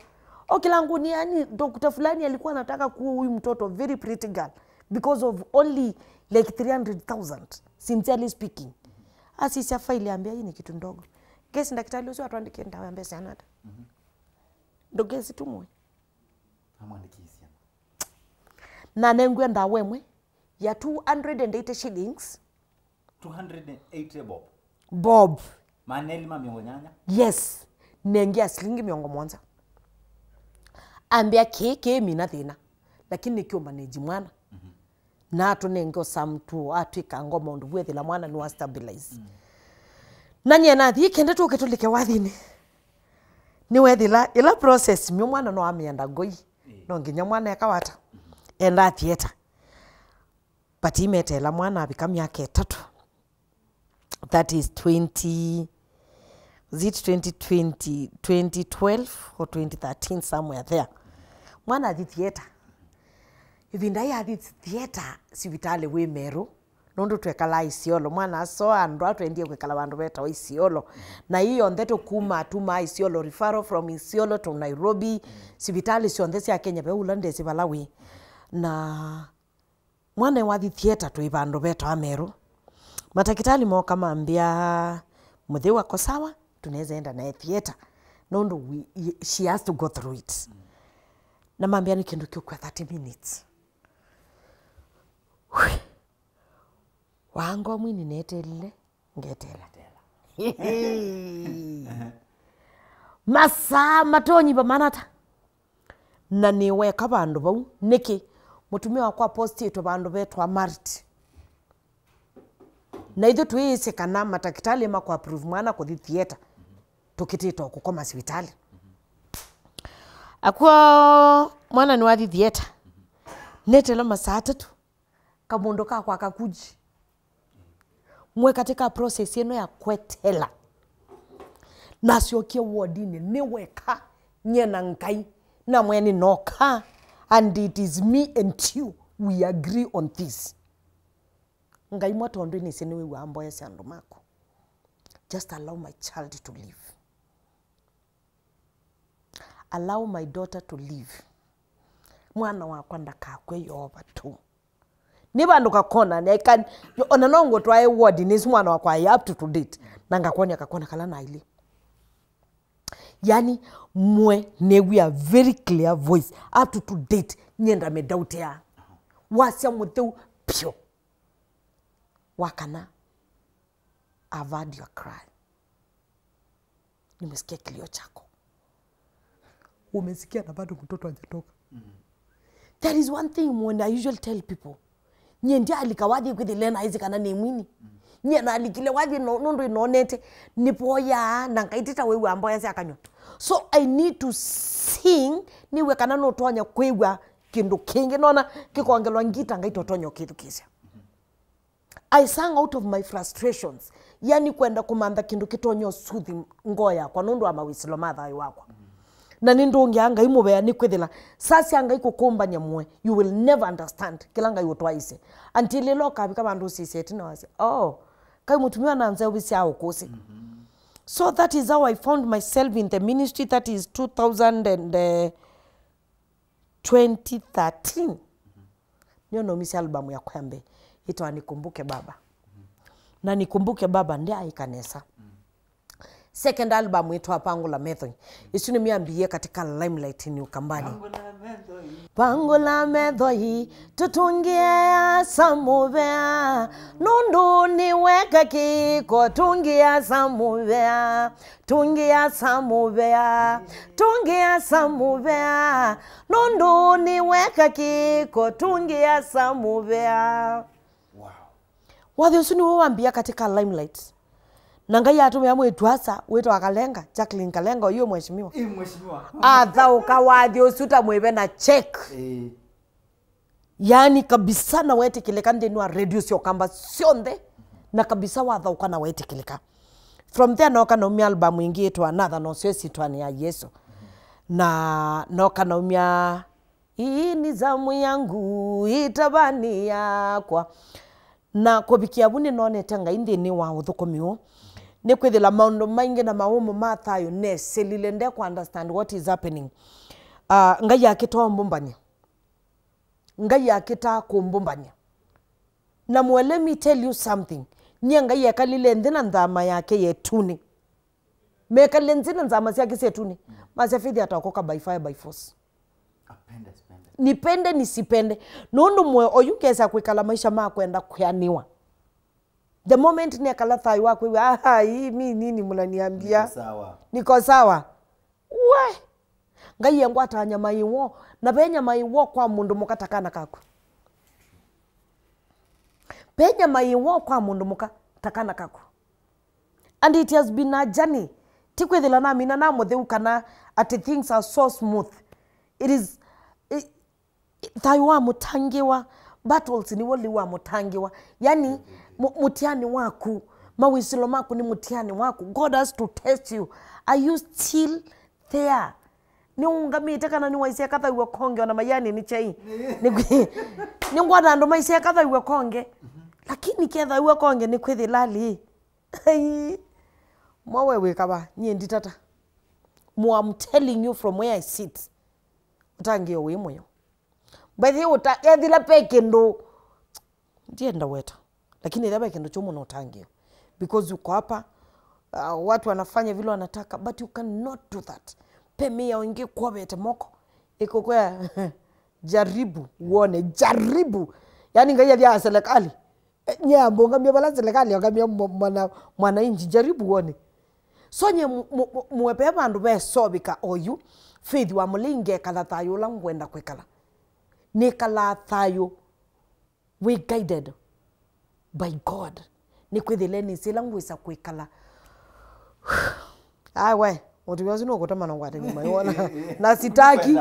O kĩlangũni, yaani, dokta fulani alikuwa anataka kuua huyu mtoto, very pretty girl, because of only, like, three hundred thousand, sincerely speaking. Asisya faili ambia, "Hii ni kitu ndogo." Guess ndakĩtalĩ ũsu atwandĩkie ndawa ya mbesa syana ata? Ndũkesi tu mwe. Amwandĩkĩsya. Na nengwe ndawa ĩmwe ya two hundred and eighty shillings. Two hundred and eighty bob. Bob. Maneli ma mĩongo nyanya? Yes. Nengea silingi mĩongo mũonza. Ambĩa kĩĩ kĩĩ mina thĩna. Lakini nĩkĩũmanage mwana. Na atũnenge ũsamtu, atwĩka ngoma ũndũ wethĩla mwana nĩwa stabilize. Na nyie nathi kende tũke tũlike wathinĩ. Nĩwethĩla ĩla process myo mwana no amĩenda ngoi. No nginya mwana ekawata. Enda theater. But imeteela mwana avika myaka ĩtatũ. That is twenty, is it twenty twenty, twenty twelve or twenty thirteen, somewhere there. Mwana athi theater. Ĩvinda yĩ athi theater, sivitalĩ wĩ Meru. Nũndũ twekalaa Isiolo. Mwana asoa andũ atwendie kwĩkala vandũ vetawa Isiolo. Na ii yonthe tũkuma, tuma Isiolo, referral from Isiolo to Nairobi. Sivitalĩ syonthe sya Kenya, ve ũla ndesĩ vala wĩ. Na mwana wathi theater twĩ vandũ vetawa Meru. Matakĩtalĩ mooka mambĩa, "Mũtheu ako sawa, tunaweza enda naye theater." Nũndũ we, she has to go through it. Na mambĩa nĩ kĩndũ kĩũkua thirty minutes. Wangomwini netelile, ngetela. Masaa matonyiva manata. Na nĩ weka vandũ vau. Nĩkĩ? Mũtumĩa wakwa apostĩtwe vandũ vetwa Marit. Na ithyĩ twĩĩsĩ kana matakĩtalĩ makũapprove mwana kũthi theater, tũkĩtĩte o kũkoma sivitalĩ. Akw'o mwana nĩwathi theater. Netela masaa atatũ, kamũndũ kakwa kakuji. Mwe katĩ ka process ĩno ya kwetela. Nasyokie wodinĩ nĩ weka, nyie na Ngai, na mwe nĩnoka, and it is me and you, we agree on this. Ngai mwa, tondũ nĩsĩ nĩwĩw'aa mboya sya andũ maku. Just allow my child to live. Allow my daughter to live. Mwana wakwa ndakakw'e, Yeova tu. Nĩ vandũ kakona, I can, ona no ngũtwae ward nĩsu mwana wakwa, I up to, to date. Na ngakwony'a kakona kala nailye. Yani, mwe nĩw'ĩa very clear voice. Up to, to date, nyie ndamĩdautĩa. Wasya mũtheu pyũ. Wa kana, I've heard your cry. Nimesikia kilio chako. Umesikia na bado mtoto hajatoka. There is one thing mwe, I usually tell people. Nyie ndialika wathi kwĩthĩle na ĩsĩ kana nĩ mwini. Nyie nalikile wathi no, nũndũ inonete. Nĩvoyaa na ngaitĩta wĩw'a mboya sya kanyw'a. So I need to sing, nĩw'e kana nũtonya kwĩw'a kĩndũ kĩngĩ. Nona kĩkongelwa ngita, ngaitotonya ũkĩthukĩĩsya. I sang out of my frustrations. Yani kwenda kũmantha kĩndũ kĩtonya ũsuthi ngoo yakwa nũndũ wa mawĩsĩlo ma thayũ wakwa. Na nĩndũngĩa Ngai mũvea nĩkwĩthĩla sasya Ngai kũkũmbany'a mwe, you will never understand kĩla Ngai ũtwaĩĩsye. Until ĩla ũkavika vandũ ũsisya ĩtina wasya, "Oh, kai mũtumĩa na nzeũvĩsya ũkũsĩ." So that is how I found myself in the ministry, that is two thousand and, uh, twenty thirteen. Nĩyo naumisye album yakwa ya mbee, yĩtawa Nikumbuke Baba. Na Nikumbuke Baba ndyaĩka nesa. Second album yĩtawa Pangula Methoi. Ĩsu nĩmyambĩĩe katika limelight ni Ukambani. Pangula methoi, tũtũngĩe Asa mũvea, nũndũ nĩweka kĩko, tũngĩe Asa mũvea. Tũngĩe Asa mũvea, tũngĩe Asa mũvea, nũndũ nĩweka kĩko, tũngĩe Asa mũvea. Wow. Wathi ũsu nĩw'o wambĩĩa katika limelight. Na Ngai atũmĩa mwĩĩtu Asa wĩtawa Kalenga, Jacqueline Kalenga, ũyũ mheshimiwa. Ĩ mheshimiwa. Athaũka wathi ũsu ta mwĩve na check. Ĩ. Yaani kabisa na wetĩkĩlĩka nthĩnĩ wa radio sya Ũkamba syonthe, na kabisa wathaũka na wetĩkĩlĩka. From there nooka naumya album ĩngĩ yĩtawa Natha, na ũseo ĩsyĩtwanĩ ya Yesũ. Na nooka naumya Hii ni zamu yangu, itavani yakwa. Na kũvikĩa vu nĩnonete Ngai nthĩnĩ wa ũthũkũmi ũũ. Nĩkwĩthĩla maũndũ maingĩ na mawũmũ ma thayũ nesĩlile nde kũ understand what is happening. Ah, Ngai akĩtaa ũmbũmbany'a. Ngai akĩtaa kũmbũmbany'a. Na mwe, let me tell you something. Nyie Ngai ekalile nthĩ na nthama yake ya ĩtunĩ. Mekalile nthĩ na nthama syake sya ĩtunĩ. Masya Faith ataokoka by fire, by force. Apende, asipende. Nipende, nisipende. Nũndũ mwe oyu ngesa kwĩkala maisha ma kwenda kwĩanĩwa. The moment nekala thayũ wa kwĩw'a, "Ah, hii mi nini mnaniambia? Niko sawa." Niko sawa. We! Ngai engwata nyama ĩw'o, na ve nyama ĩw'o kwa mũndũ mũka ta kana kaku. Ve nyama ĩw'o kwa mũndũ mũka ta kana kaku. And it has been a journey. Ti kwĩthĩla namina na mũtheu kana ati things are so smooth. It is, it, thayũ wa mũtangĩwa, battles nĩw'o lĩu wa mũtangĩwa. Yani, mu-, mũtiani waku, mawĩsĩlo maku nĩ mũtiani waku. God has to test you. Are you still there? Nĩũngamĩte kana nĩwaisye kathaw'a konge ona maiani nĩ chai? Nĩ-, nĩngwona andũ maisye kathaw'a konge. Lakini kethaw'a konge nĩ kwĩthĩla lĩ. Ai. Mwa we wĩkava, nyie nditata. Mo, I'm telling you from where I sit. Ũtangĩo wĩ mũyo. By the way, ũta-, ethĩla pe kĩndũ. Ndienda weta. Lakini ethĩla pe kĩndũ kyo mũno ũtangĩo. Because uko hapa, uh, watu wanafanya vile wanataka, but you cannot do that. Pe mĩao ĩngĩ kwovete moko, ĩkũkwĩa, "Jaribu uone, jaribu." Yaani Ngai athyaa serikali. Eh, nye ambũngamia vala serikali yongamia mwa-, mwana, mwananchi, jaribu uone. So nye mu-, mu-, mu-, muepee vandũ vesovika oyu, Faith wa Mũlei, ngekala thayũ ũla ngwenda kwĩkala. Nĩkalaa thayũ wĩ guided by God. Nĩkwĩthĩle nĩsĩ ĩla ngwĩsa kwĩkala. Ai we, mũtumĩa ũsu nũkũtema na ngwate nyuma, nĩwona? Na sitaki.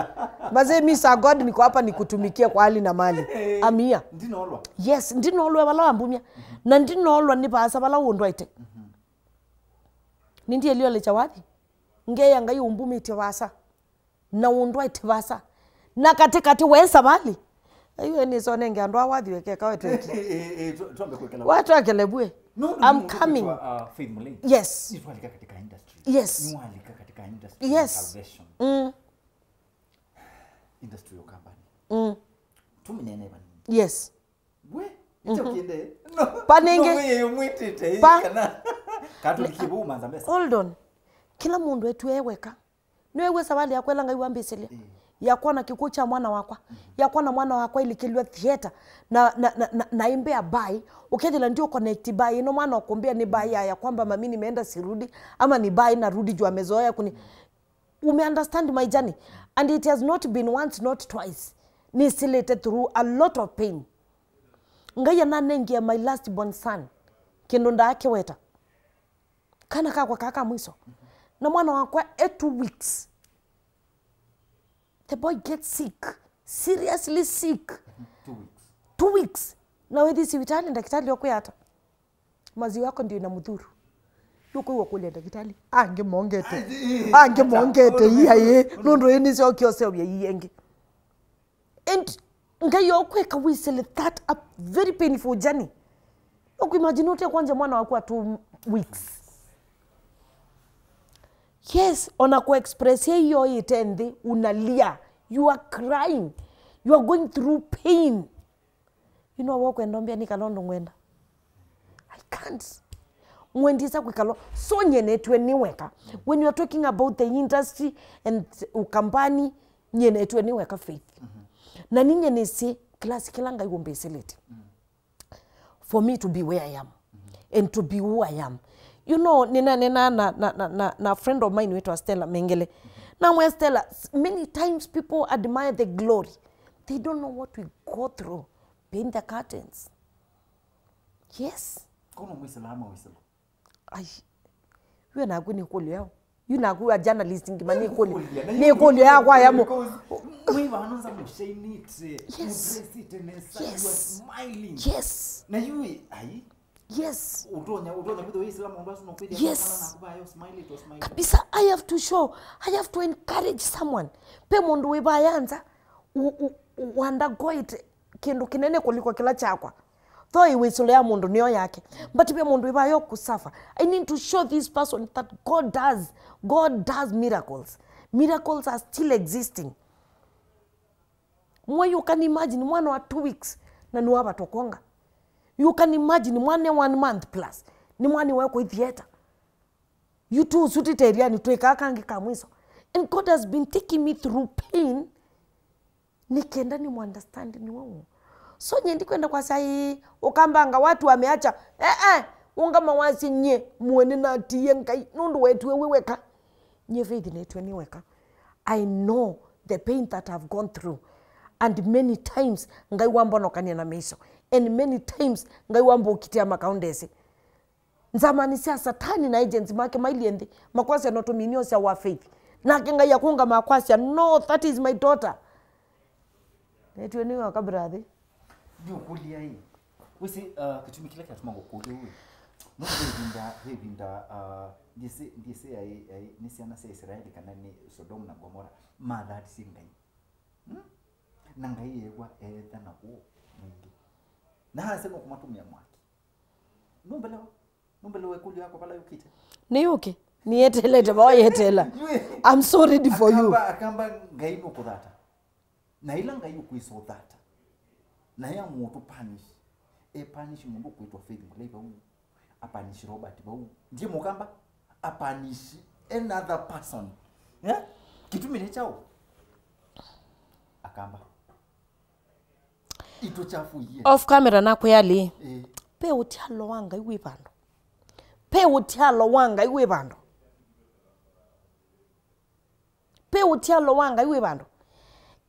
Mazee, mi sa God, niko hapa nikutumikie kwa hali na mali. Amia. Ndinolwa. Yes, ndinolwa vala wambumya. Na ndinolwa nĩ vaasa vala ũndwaĩte. Nĩndielio lecha wathi. Ngeya Ngai ũmbumĩtye vaasa. Na ũndwaĩte vaasa. Na katĩkatĩ we savali. Aiwe nĩsonenge andũ aa wathi wekeka wetweki. Twambe kwĩkala. Watwekele bue. No, no, I'm coming. Faith Mũlei. Yes. Nĩtwalika katika industry. Yes. Nĩwalika katika industry ya salvation. Mm. Industry ya Ũkambanĩ. Mm. Tũmĩnene vanini. Yes. We, ĩkyo kĩndĩ. No. Pa nĩngĩ. No, we, yo mwĩtĩte, pa. Kana. Katũlikie vau manza mesa. Hold on. Kĩla mũndũ etue weka. Nĩwew'a savali yakwa ĩla Ngai wambĩsĩlya, ya kwona kĩkw'ũ kya mwana wakwa, ya kwona mwana wakwa ilikĩlw'a theater, na, na, na, na, na imbea bai, ũkethĩla ndio connect bai ĩno, mwana ũkũmbĩa nĩ bai ya, ya kwamba mami nimeenda sirudi, ama ni bai narudi juu amezoea kuni. Ume understand my journey? And it has not been once, not twice. Nĩsĩlĩte through a lot of pain. Ngai ananengie my last born son kĩndũ ndaakĩweta. Kana kakwa kaa ka mwiso. Na mwana wakwa e two weeks. The boy gets sick. Seriously sick. Two weeks. Two weeks. Na wĩthi sivitali, ndakitali okwĩa ata? Maziwa yako ndio inamdhuru. Yuko iwa kũlya ndakitali. Angĩ mongete. Angĩ mongete. Iya ye. Nũndũ ĩnĩ syo kĩoseũvya ii ĩngĩ. And Ngai okwĩka wĩsĩle that a very painful journey. Ũkũimagine ũte kwanja mwana waku wa two weeks. Yes, ona ku express hiyo ite nthĩ, unalia, you are crying, you are going through pain. You know, wokwenda mbia nĩ kana ũndũ ngwenda. I can't. Ngwendisa kwĩkalwa. So nyenetwe nĩ weka. When you are talking about the industry and Ukambani, nyenetwe nĩ weka Faith. Na ninye nĩsĩ class kĩla Ngai ũmbĩsĩlĩte. For me to be where I am. And to be who I am. You know, nina, nina na, na, na, na, na friend of mine wĩtwa Stella Mengele. Namwĩa Stella, s-, many times people admire the glory. They don't know what we go through behind the curtains. Yes. Kono mwisela ama wisela. Ai. Yu naku nĩ kũlyo yao. Yu naku a journalist ngima nĩ kũlyo. Nĩ kũlyo yakwa ya mo. Mwiva anonza mushainite. Yes. Mudressite nesa. You are smiling. Yes. Na yu ai. Yes. Utonya, utonya mutho wisila mundu asu no kwithia. Yes. Kana na kuba yo smile to smile. Kabisa, I have to show, I have to encourage someone. Pe mundu wibayanza u, u, u undergo it kĩndũ kĩnene kũliko kĩla kyakwa. Though ĩwĩsũlo ya mũndũ nĩyo yake, but ve mũndũ ĩvayo kũsuffer. I need to show this person that God does, God does miracles. Miracles are still existing. Mwa, you can imagine mwana wa two weeks na nĩwavatwa kwonga. You can imagine mwana one month plus nĩ mwana wa kũ theater. You too, sutite ĩrianĩ, twĩkaa kangĩ ka mwiso. And God has been taking me through pain. Nĩ kenda nĩ mu understand nĩ wau. So nye ndikwenda kwasya ĩĩ, Ukambanga watu wameacha. Eh, eh, ungama wasye nye, mwene natiie Ngai, nũndũ wetue wĩ weka. Nye Faith netue nĩ weka. I know the pain that I've gone through. And many times, Ngai wambonokania na mĩiso. And many times, Ngai wambũkitĩa makaundesi. Nzamani sya Satani na agents make mailyĩ nthĩ, makwasya no tũminio sya wa Faith. Nake Ngai akũngama akwasya, "No, that is my daughter." Netue nĩ weka brother. Ndiũkũlya ĩ. Wĩsĩ, uh, kĩtumi kĩla kĩatuma ngũkũlya ũu ĩ. No ve ĩvinda, ve ĩvinda, uh, ndiĩsĩ, ndiĩsĩ yaĩ, yaĩ, nĩ syana sya Israeli kana nĩ Sodom na Gomora, mathatisye Ngai. Hmm? Na Ngai eew'a eetha na woo mwingĩ. Na asya nũkũmatũmĩa mwaki. Nũmbelewa? Nũmbelewa ĩkũlyo yakwa vala yũkĩte? Nĩyũke. Nĩyeteelete vaa yeteela. I'm so ready for you. Akamba, akamba Ngai nũkũthata. Na ĩla Ngai ũkwĩsa ũthata. Na ya mũtũ punish. E punish mũndũ ũkwĩtwa Faith Mũlei vau. A punish Robert vau. Ndiye mũkamba? apanish another person. Eh? Kĩtumi nĩ kyaũ? Akamba. Ituchafuie. Off camera nakwĩa lĩ. Eh. Pe ũtialo wa Ngai wĩ vandũ. Pe ũtialo wa Ngai wĩ vandũ. Pe ũtialo wa Ngai wĩ vandũ.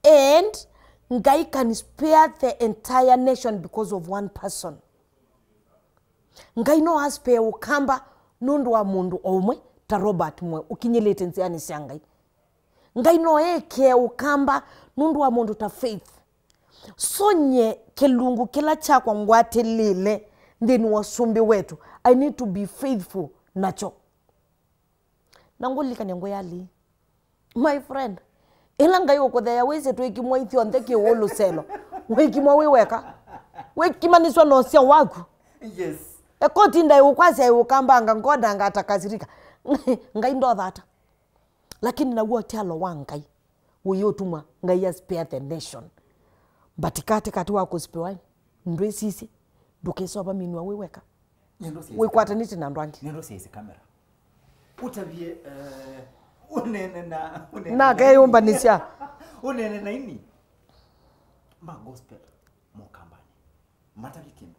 And Ngai can spare the entire nation because of one person. Ngai no aspare Ũkamba nũndũ wa mũndũ o ũmwe ta Robert Mwe ũkinyĩlĩte nzĩanĩ sya Ngai. Ngai no ekĩe Ũkamba nũndũ wa mũndũ ta Faith. So nye kĩlungu kĩla kyakwa ngwatĩlĩle nthĩnĩ wa ũsumbĩ wetu, I need to be faithful nakyo. Na ngũlilikany'a ngwĩa lĩ, my friend, ĩla Ngai ũkũtheea wĩsĩ twĩkimwa ithyonthe kĩw'ũ lũselo, wĩkimwa wĩ weka, wĩkimanĩswa na ũseo waku. Yes. Ekoti ndaĩ ũkwasya ĩ Ũkamba anga ngoda anga atakasirika. Ngai ndothata. Lakini naw'o ũtialo wa Ngai ũyĩũtumwa Ngai a spare the nation. But katĩkatĩ wa kũspiwa, ndwĩsisye, ndũkĩsova minwa wĩ weka. Wĩkwatanĩtye na andũ angĩ. Nĩndũ syaĩsĩ kamera. Ũtavye, eh, ũnene na, ũnene na akeyũmbanĩsya. Ũnene na ini. Ma gospel, Mũkambanĩ. Matavye kĩndũ.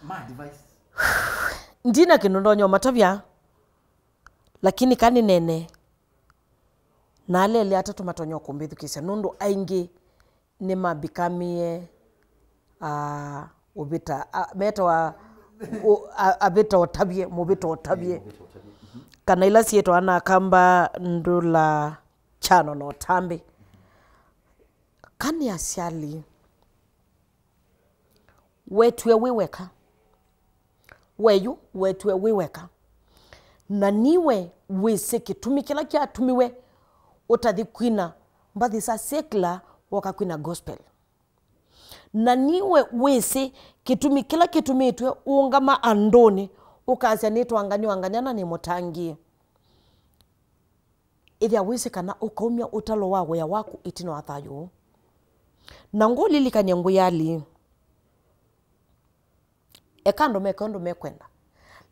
Ma advice. Ndina kĩndũ ndonya ũmatavya. Lakini kanĩnene na aleli atatũ matonya kũmbĩthukĩĩsya, nũndũ aingĩ nĩmabikamie, ah, ũvĩta, ah, metawa, ũ-, a-, avĩta ũtavye, mũvĩta ũtavye. Kana ila syĩtwa anakamba ndũla kyano na ũtambĩ. Kanĩ asyali. Wetw'e wĩ weka. We yu wetw'e wĩ weka. Na niwe wĩsĩ kĩtumi kĩla kyatumiwe ũtathi kwina mbathi sya secular woka kwina gospel. Na niwe wĩsĩ kĩtumi kĩla kĩtumĩtw'e ũũngama andũnĩ ũkasya nĩtwanganywa anganyana nĩ mũtangĩĩe. Ĩthĩa wĩsĩ kana ũkaumya ũtalo wa wĩa waku ĩtina wa thayũ ũũ. Na ngũlilikany'a ngwĩa lĩĩ, eka andũ meke ũndũ mekwenda,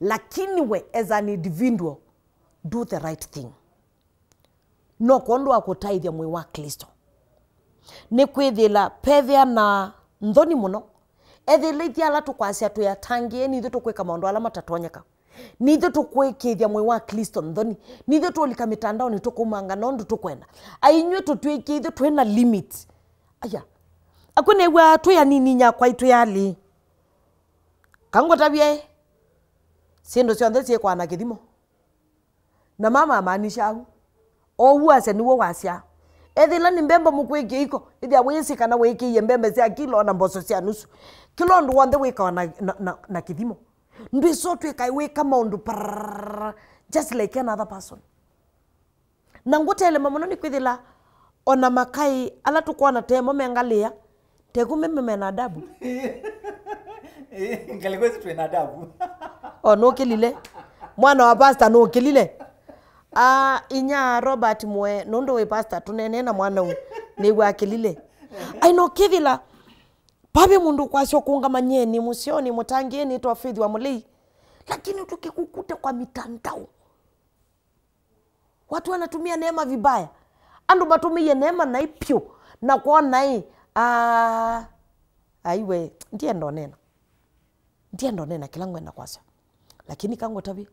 lakini we as an individual, do the right thing. No kwondũ wa kũtaĩthya mwĩĩ wa Klĩsto. Nĩkwĩthĩla pethĩa na nthoni mũno, ethĩla ithyĩ ala tũkwasya twĩ atangĩĩe, nithyĩ tũkwĩka maũndũ ala matatonyeka. Nithyĩ tũkwĩkĩĩthya mwĩĩ wa Klĩsto nthoni. Nithyĩ tũũlika mĩtandaonĩ tũkũmanga nũndũ tũkwenda. Ainyw'ĩ tũtw'ĩkie ithyĩ twĩ na limit. Aya. Akw'e nĩw'aa twĩ anini nyakwa itwĩ alĩ. Kangũtavye ĩ. Syĩndũ syonthe syĩkwa na kĩthimo. Na mama amaanisha au. Oou asya nĩw'o wasya. Ethĩla nĩ mbemba mũkwĩkĩa iko, ĩthĩa wĩsĩ kana wĩkĩie mbemba sya kilo na mboso sya nusu. Kĩla ũndũ w'onthe wĩkawa na, na, na, na kĩthimo. Ndwĩsa ũtw'ĩka wĩka maũndũ prrrr, just like another person. Na ngũtelema mũno nĩ kwĩthĩla ona makai ala tũkwona temo mengalĩa, teku meme mena adabu. Ngalĩko ĩsu twĩ na adabu. O nũkĩlile. Mwana wa pastor nũkĩlile. Ah, inya Robert Mwe, nũndũ wĩ pastor, tũneenee na mwana ũũ. Nĩw'o akĩlile. Ai, no kĩthĩla Vave mũndũ ũkwasya ũkũngama nyeni mũseo nĩ mũtangĩĩe nĩtwa Faith wa Mũlei, lakini tũkĩkũkute kwa mitandao. Watu wanatumia neema vibaya. Andũ matũmĩie neema naĩ pyũ na kwona ĩ, aa, aiwe, ndienda ũnena. Ndienda ũnena kĩla ngwenda kwasya. Lakini kangũtavye,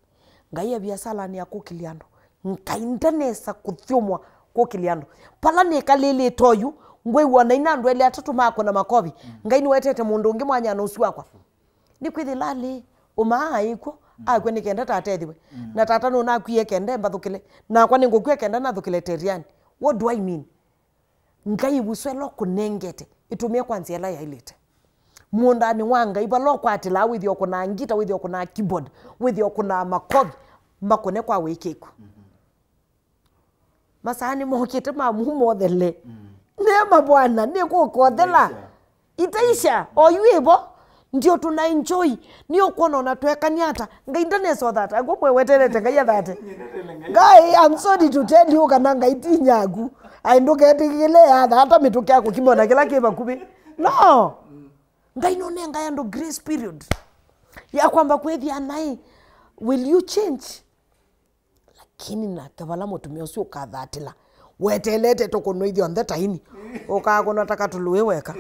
Ngai e viasalanĩ ya kũkĩlya andũ. Ngai ndanesa kũthyũmũa kũkĩlya andũ. Vala nĩkalĩlĩte oyu, ngwĩw'a naina andũ elĩ atatũ makũna makovi. Ngai nĩwetete mũndũ ũngĩ mwanyana ũsu wakwa. Nĩkwĩthĩla alĩ, ũmaa aĩ kw'o, akw'a nĩ kenda tata ethiwe. Na tata nũnakwie kenda mbathũkĩle. Nakwa nĩngũkw'a kenda nathũkĩle Teriani. What do I mean? Ngai ĩvuso ĩla ũkũnengete, ĩtũmĩe kwa nzĩa ĩla yaĩlĩte. Mũũndanĩ wa Ngai, vala ũkwatĩlaa, wĩthĩe ũkũnaa ngita, wĩthĩe ũkũnaa keyboard, wĩthĩe ũkũnaa makovi, makũne kwa wĩkĩku. Masaa nĩmokĩte ma mumo ũthele. Neema Bwana, nĩkũkothela. Itaisha, oyu ĩvo, ndio tuna enjoy. Nĩ ũkwona ona twekania ata, Ngai ndanesa ũthata. Ngũmwe weterete Ngai athate. Ngai, I'm sorry to tell you, kana Ngai ti nyaku. Ai, ndũketĩkĩle athata mĩtũkĩ ya kũkima ona kĩla kĩ vakuvĩ. No. Ngai nũnengae andũ grace period ya kwamba kwĩthĩa naĩ. Will you change? Lakini nake vala mũtumĩa ũsu ũkathatĩla, weteelete tũkũnwa ithyonthe ta ini, ũkakũnwa ta katũlũĩ weka.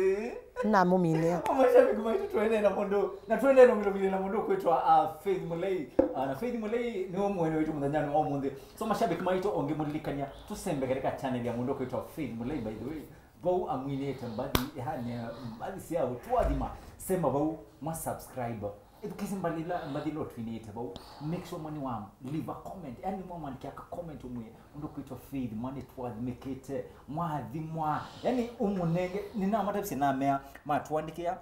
Namũminĩa. Mashabiki maitũ, tũendee na mũndũ, na tũendee na mũndũ, na mũndũ kwĩtwa, uh, Faith Mulei. Uh, na Faith Mulei nĩwe mwene witũ mũthenyanĩ wa ũmũnthĩ. So, mashabiki maitũ, o ngĩmũlilikany'a, tũsembe katika channel ya mũndũ kwĩtwa Faith Mulei, by the way. Vau amwinĩte mbathi, yani, mbathi sya ũtwathima, sema vau, mwa subscribe. Ĩthukĩĩsye mbathi ila, mbathi ila ũtwinĩte vau. Make sure mwani wa leave a comment. Yani, mwamwandĩkĩa ka comment ũmwĩe, mũndũ kwĩtwa Faith, mwa nĩtwathimĩkĩte, mwathimwa. Yani, ũmũnenge, nĩnamatavisye namea, matũandĩkĩa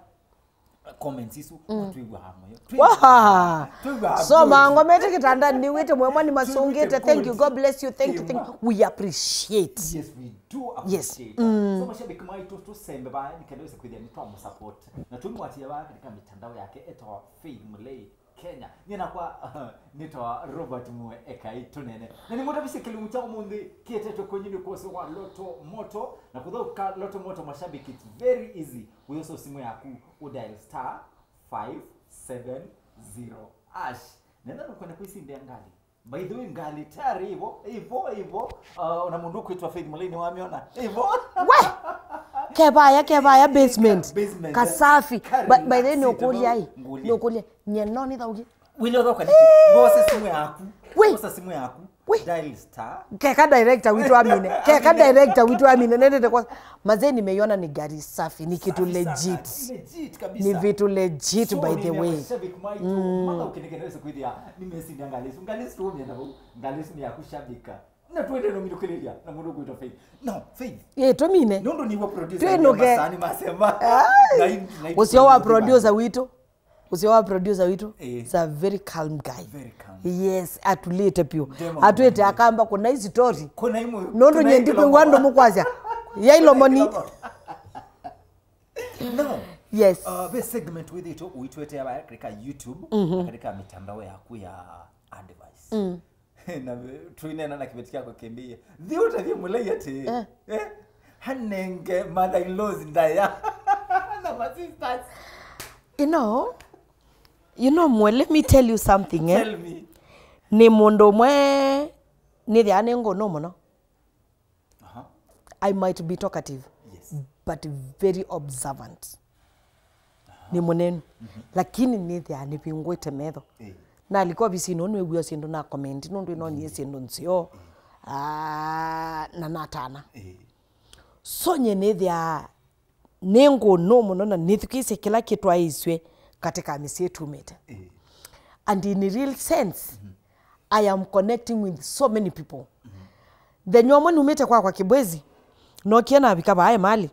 comments isu, twĩw'aa mũyo. Waha! Twĩw'aa So, good. Mango mete kitandani, nĩwĩte mwemwa nĩmasũngĩte. Thank you, God bless you, thank you, thank you. We appreciate. Yes, we do Yes. appreciate. So, mashabiki maitũ, tũsembe vaya, nĩ kenda wĩse kwĩthĩa nĩtwamũsupport. Na tũmũatia vaya katika mitandao yake, etawa Faith Mulei Kenya. Nyie nakwa nĩtawa Robert Mue Ekai Tũnene. Na nĩmũtavisye kĩlungu kya ũmũnthĩ kĩetetwe kwenyu nĩ kwosi wa Lotto Moto. Na kũthaũka Lotto Moto, mashabiki, it's very easy. Wĩyosa simũ yaku, ũdial star five seven zero hash. Nenda nũkwenda kwĩsindĩa ngalĩ. By the way, ngalĩ tayari ivo, ivo, ivo. Uh, ona mũndũ ũkwĩtwa Faith Mulei nĩwamĩona. Ivo. We! Kevaya, kevaya basement. Basement. Kasafi. Kari But by the way, relax, nĩũkũlya ĩ. Ngũlya. Nĩũkũlya. Nyie no nĩthaũkie. Wĩle ũthoka nĩkĩ? Ngosa simũ yaku. We! Ngosa simũ yaku. We! Dial star. Keka director witũ amine. Keka Amine. director witũ amine. Nendete kwa. Mazee, nimeiona ni gari safi, ni kitu Safi sana. legit. Legit kabisa. Ni vitu legit, So, by the nĩ way. mashabiki maitũ, Mm. maka ũkenekene wese kwĩthĩa, nĩmesinda ngalĩ isu. Ngalĩ isu tũmĩenda vau. Ngalĩ isu nĩ ya kushabika. Na twende no mĩtũkĩlĩlya, na mũndũ kwĩtwa Faith. No, Faith. Ye, tũmine. Nũndũ nĩwe producer Twĩnũke. ya Masani Masema. Ai. Na i-, na i-, Ũcio wa producer producer witũ. Ũcio wa producer witũ Eh. is a very calm guy. Very calm. Yes, atulĩte piũ. Ndema Atwĩte mũno. akamba kũna ici story. Kũna imwe, Nũndũ kũna nyie ilomo. ndikwĩw'a andũ mũkwasya. Ya ilomoni. No. Yes. Uh, ve segment wĩthĩtwe ũitwete ya katika YouTube, Mhm. na katika mitandao yaku ya advice. Mm. Na ve-, tuinena na kĩveti kyako kĩmbĩie. Thi ũtavye Mulei atĩ. Eh. Eh? Hanenge mother-in-laws ndaya. Na ma sisters. You know, you know, Mwe, let me tell you something, eh? Tell me. Nĩ mũndũ ũmwe nĩthĩaa nĩ ngũnũ mũno. Aha. I might be talkative, Yes. but very observant. Aha. Nĩ mũnenu. Mhm. Lakini nĩthĩaa nĩvingũĩte metho. Eh. Nalika ovisinĩ ũũ nĩwĩw'aa syĩndũ na comment, nũndũ ĩnonie syĩndũ nzeo. Eh. Ah, na natana. Eh. So nyie nĩthĩaa nĩ ngũnũ mũno na nĩthukĩĩsye kĩla kĩtwaĩĩsw'e katika mĩsyĩ tumĩte. Eh. And in real sense, Mhm. I am connecting with so many people. Mhm. Thenya ũmwe numĩte kwakwa Kibwezi, nokie navika vaa Emali.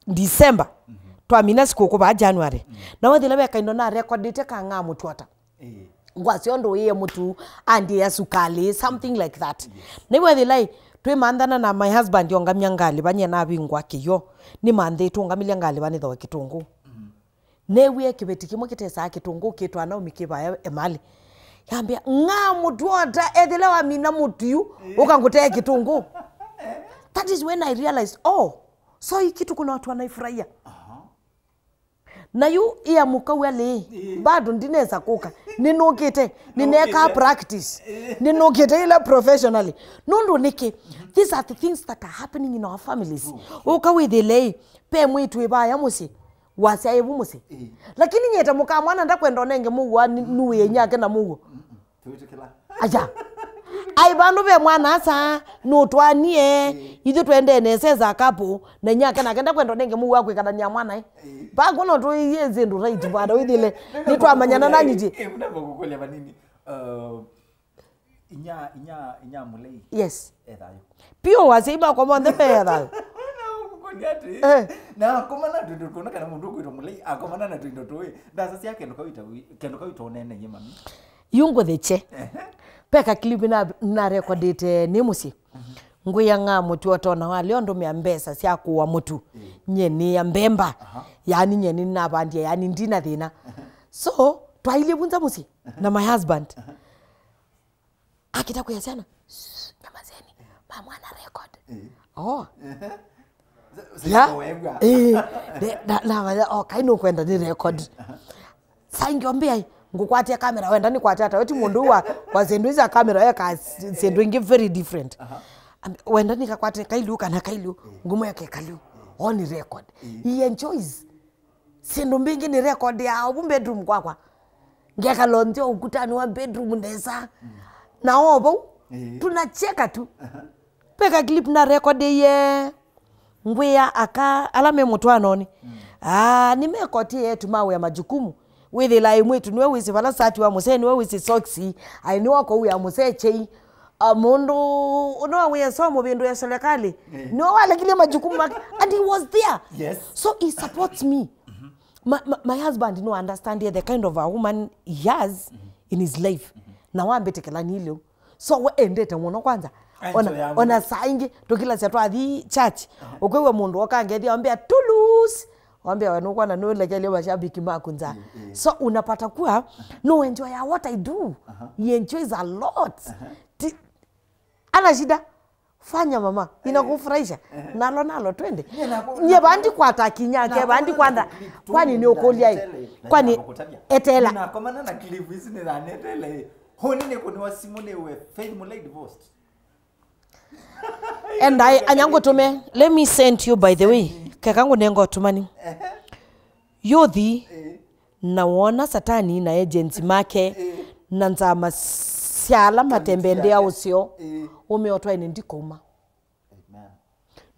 December, Mhm. twamina sikũkũ vaa January. Mhm. Na wethĩla ve kaindo na recordĩte ka Ng'aa Mũtuota. Eh. Ngwasya ũndũ ũĩe mũtu, andĩĩa sukalĩ, something like that. Yes. Nĩwethĩla ĩ, twĩmanthana na my husband ongamya ngalĩva, nyie navingũa kĩyo. Nĩmanthĩtwe ũngamĩlya ngalĩva nĩthoe kĩtũngũũ. Mhm. Neewie kĩveti kĩmwe kĩtesaa kĩtũngũũ kĩtwa Naomi kĩ vaya Emali. Yambĩa, "Ng'aa Mũtuota, ethĩla wamina mũtu yu, ũka ngũtee kĩtũngũũ." That is when I realized, oh, so hii kitu kuna watu wanaifurahia. Aha. Na yu ia mũkau alĩ, Ĩĩ. bado ndinesa kũka. Nĩnũkĩte, nĩnekaa Nũkĩte. practice. Ĩĩ. Nĩnũkĩte ila professionally. Nũndũ nĩkĩ? These are the things that are happening in our families. True, true. Ũka wĩthĩle ĩ, pe mwĩtu ĩvaya mũsyĩ, wasya ĩvu mũsyĩ. Ĩĩ. Lakini nyie ta mũka mwana ndakwenda ũnenge mũuo, ni-, nuĩe inyake na mũuo. Mm-mm. Twĩtĩkĩla. Aja. Ai, vandũ ve mwana asa, nũtwanie, Ĩĩ. ithyĩ twendee nesa as a couple, na inyake nake ndakwenda ũnenge mũuo wa kwĩkalany'a mwana, eh. Ĩĩ. Vangũ no tũiye syĩndũ right bwana, wĩthĩle, nĩtwamanyana na nyitĩ. Eh, namba kũkũlya vanini. Uh, inya, inya, inya Mulei. Yes. Ethayũ. Pio wasya makwa monthe me ethayũ. Na ũkũkũlya atĩ, Eh. na akomana tũindo tũna kana mũndũ ũkwĩtwa Mulei, akomana na tũindo tũĩ. Ndasasya kĩndũ kau ita-, kĩndũ kau ita ũnene ye mami. Yu ngũthĩkye. Ehe. Ve ka clip na, na recordĩte nĩ mũsyĩ. Mhm. Ngwĩa Ng'aa Mũtuota ona walea ũndũmĩa mbesa sya kũũa mũtu. Ĩĩ. Nyie nĩĩa mbemba. Aha. Yaani nyie nĩnavandie, yaani ndina thĩna. Aha. So, twailyĩ vunza mũsyĩ Aha. na my husband. Aha. Akĩta kwĩa syana, "Shh, nyamazeni, mama ana record." Ĩĩ. Oh. Ehe. Ya. Sasa wegwa. Eh, de-, na, na, oh, kai nũkwenda nĩ record. Aha. Sa ingĩ ombĩa, Ngũkwatia kamera, wenda nĩkwate ata? We ti mũndũ wa, wa syĩndũ isu sya kamera, eka syĩndũ ingĩ very different. Wenda nĩkakwate kaliu kana kaliu, ngũmwĩa ke kaliu. One record. He enjoys. Syĩndũ mbingĩ nĩ record ya ovu bedroom kwakwa. Ngekala nthĩ ũkutani wa bedroom nesa. Na o vau, tunacheka tu. Ve ka clip na record ye. Ngwĩa aka ala me mũtwanonĩ. Ah, nĩmekotie yetu mawĩa majukumu. Wĩthĩla ĩ mwĩtu nĩwe wĩsĩ vala sati wa mũsee, nĩwe wĩsĩ soksi. Ai, nĩwe ũkũwĩa mũsee chei. Ah, mũndũ ũno wĩa somo vĩndũ ya serikali. Nĩwe walekile majukumu make. And he was there. Yes. So he supports me. My, my, my husband no understand the kind of a woman he has in his life. Na wambĩtĩkĩla nĩ lĩu. So we endete mũno kwanza. Ona, ona saa ingĩ tũkilasya twathi church. Ũkwĩw'a mũndũ okangethia wambĩa, "Tulus." Wambĩa, "We nũkwona nũlekelye mashabiki maku nza." So unapata kuwa no enjoy what I do. He enjoys a lot. Ti, ana shida. Fanya mama, inakufurahisha. Nalo, nalo, twende. Nye vandi kwata kinyake, vandi kwanda. Kwani nĩ ũkũlya ĩ? Kwani etela. Nakomana na clip ici nĩ thanetele. Honi nĩ kũniwa simu nĩ we Faith Mulei divorced. Endai, anya ngũtũme. Let me send you, by the way. Keka ngũnenga ũtũmani. Yuthi, na wona Satani na agents make na nzama sya ala matembendea ũseo, ũmeo twaĩne ndikouma.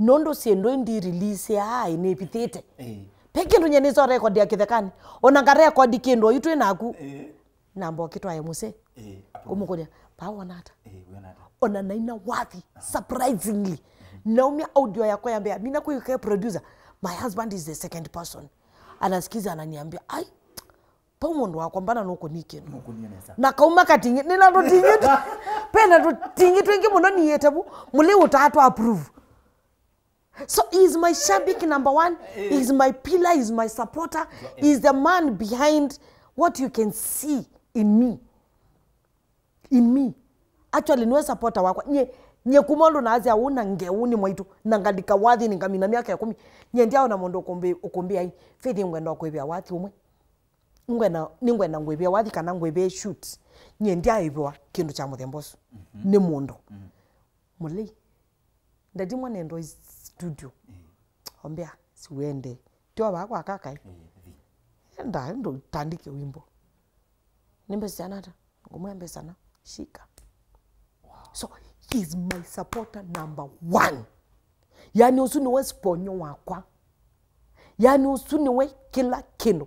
Nũndũ syĩndũ indi release ai nĩvithĩte. Ve kĩndũ nye nĩso record ya kĩthekanĩ. Ona nga record kĩndũ oyu twĩ naku. Namba ũkĩtwae mũsee. Kũmũkũlya, "Paa wona ata?" Ona naina wathi, surprisingly. Naumya audio yakwa ya mbea, mina kwĩke producer. My husband is the second person. Anasikiza, ananiambia, "Ai, pau mũndũ wakwa mbana nũkũni kĩndũ." Nũkũnie nesa. Na kauma katingi, nĩna tũtingi tu-, pena tũtingi twingĩ mũno niĩte vu, mũlĩ ũtatwa approve. So he is my shabiki number one, he is my pillar, he is my supporter, he is the man behind what you can see in me. In me. Actually, nĩwe supporter wakwa. Nye, nye kuma ũndũ naasya ũu na ngeũ nĩ mwaitũ, na ngalika wathi nĩ ngamina myaka ĩkũmi. Nye ndiaona mũndũ ũkũmbĩ-, ũkũmbĩa ai, Faith, ngwenda kwĩvĩa wathi ũmwe. Ngwenda, nĩngwenda ngwĩvĩa wathi kana ngwĩvĩe shoot. Nye ndiaĩvĩwa kĩndũ kya mũthemba ũsu nĩ mũndũ. Mũlei. Ndati mwana endo studio. Ombea, siwende. Tio vaa kwa kaka, eh? Enda, ndo tandike wimbo. Nĩ mbesa syana ata? Ngũmwĩa mbesa na, shika. So, he's my supporter number one. Yani, ũsu nĩwe sponyo wakwa. Yani, ũsu nĩwe kĩla kĩndũ.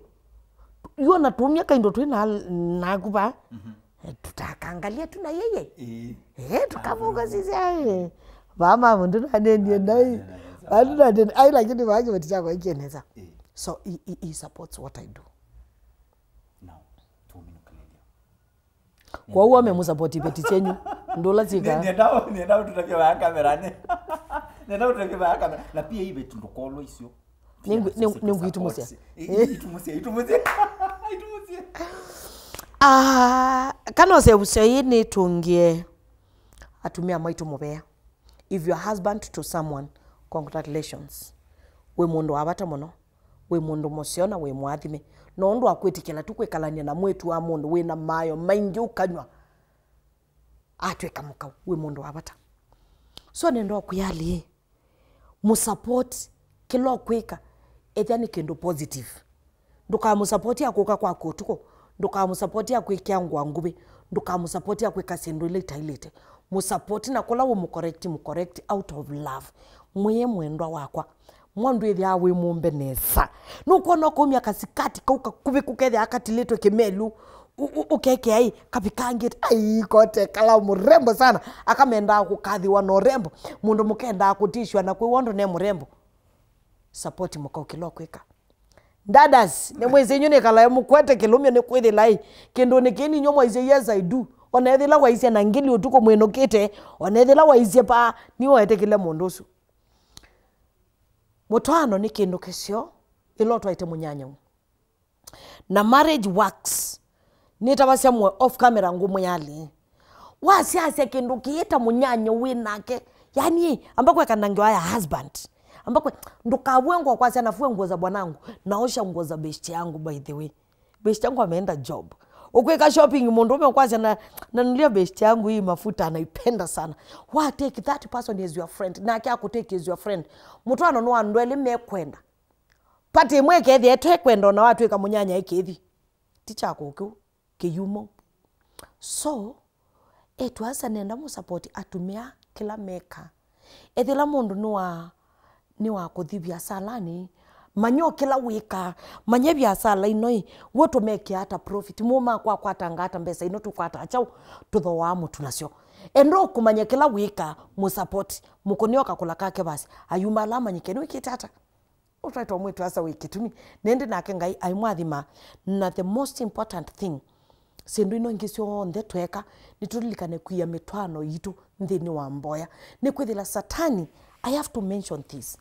Yu ona tũmya kaindo twĩ na, naku vaa. Eh, tutakangalia tu na yeye. Eh, tukavunga sisi, eh. Vaa mama, ndunanenie nai. Vaa ndunanenie, ai, lakini vaa kĩveti kyakwa ikieneza. So, he, he, he supports what I do. Now, tũminũkĩlĩlya. Kwa hiyo amemsupport iveti chenyu. Ndola zika. Nenda, nenda tutavya vaa kamera ne. Nenda tutavya vaa kamera. Na pia iveti ndũkolwa icio. Nĩngũ-, nĩngũ-, nĩngũitũmũsya. Itũmũsye, itũmũsye. Itũmũsye. Ah, kana ũseũvũsya ĩĩ nĩtũngĩe atumĩa maitũ mũvea. If you're husband to someone, congratulations. Wĩ mũndũ wa vata mũno. Wĩ mũndũ mũseo na wĩ mũathime. No ũndũ wa kwĩtĩkĩla tu kwĩkalany'a na mwĩĩtu wa mũndũ wĩ na mayo maingĩ ũkanywa, atw'ĩka mũkau, wĩ mũndũ wa vata. So nenda ũkwĩa alĩĩ, mũsupport kĩla ũkwĩka, ethĩa nĩ kĩndũ positive. Ndũkamũsupport akũka kwaku ũtukũ, ndũkamũsupport akwĩkĩa ngũa nguvĩ, ndũkamũsupport akwĩka syĩndũ ila itaĩlĩte. Mũsupport na kũla ũmũcorrect, mũcorrect out of love. Mwĩe, "Mwendwa wakwa, mwandu ĩthĩawa wĩ mũmbe nesa. Nũkwona ũkaumya kasikati kau kakuvĩ kũkethĩa katilĩtwe kĩmelu, ũ-, ũ-, ũkekea ĩ, kavikangĩte, ai, kote kala mũrembo sana." Akamendaa kũkathĩwa na ũrembo. Mũndũ mũkendaa kũtishwa na kwĩw'a ũndũ ne mũrembo. Support mũkau kĩla ũkwĩka. Dadas, nĩmwĩsĩ inyu nĩkalae mũkwete kĩlũmyo nĩkwĩthĩla ĩ, kĩndũnĩ kĩĩ ninyu mwaisye, "Yes, I do." Ona ethĩla waisye na ngili ũtukũ mwĩnũkĩte, ona ethĩla waisye paa, nĩwe wetĩkĩle mũndũ ũsu. Mũtwaano nĩ kĩndũ kĩseo ĩla ũtwaĩte mũnyanyau. Na marriage works. Nĩtavasya mwe off camera ngũmwĩa alĩĩ. Wasyasya kĩndũ kĩĩ ta mũnyanya wĩ nake. Yani, amba kweka na ngewa ya husband. Amba kwe, ndũkavue nguo kwa syana, fue nguo za bwanangu. Naosha nguo za beshte yangu, by the way. Beshte yangu ameenda job. Ũkwĩka shopping, mũndũ ũme ũkwasya na, nanulia beshte yangu hii mafuta anaipenda sana. Wa take that person as your friend, nake akũtake as your friend. Mũtwaano nĩ wa andũ elĩ mekwenda. Pati ĩmwe ĩkethĩa ĩtekwenda ona watwĩka mũnyanya ĩkĩthi. Ti kyakwa kĩu, kĩyumo. So, etu asa nenda mũsapoti atumĩa kĩla meka. Ethĩla mũndũ nĩ wa, nĩ wa kũthi viasalanĩ, manya o kĩla wĩkaa, manya viasala ino ĩ, w'o tũmekĩa ata profit, mũũ makwa akwatanga ata mbesa ino tũkwataa kyaũ, tũthooaa mũtu nasyo. Enda ũkũmanya kĩla wĩkaa, mũsapoti, mũkũnĩa ũkakũla kake vasi, ayuma ala amanyĩke nĩwĩkĩte ata. Ũtwaĩtwe mwĩĩtu asa wĩ kĩtumi, na ĩndĩ nake Ngai aimwathima. Na the most important thing, syĩndũ ino ingĩ syonthe tweeka, nĩtũlilikane kwia mĩtwaano yitũ nthĩnĩ wa mboya. Nĩkwĩthĩla Satani, I have to mention this.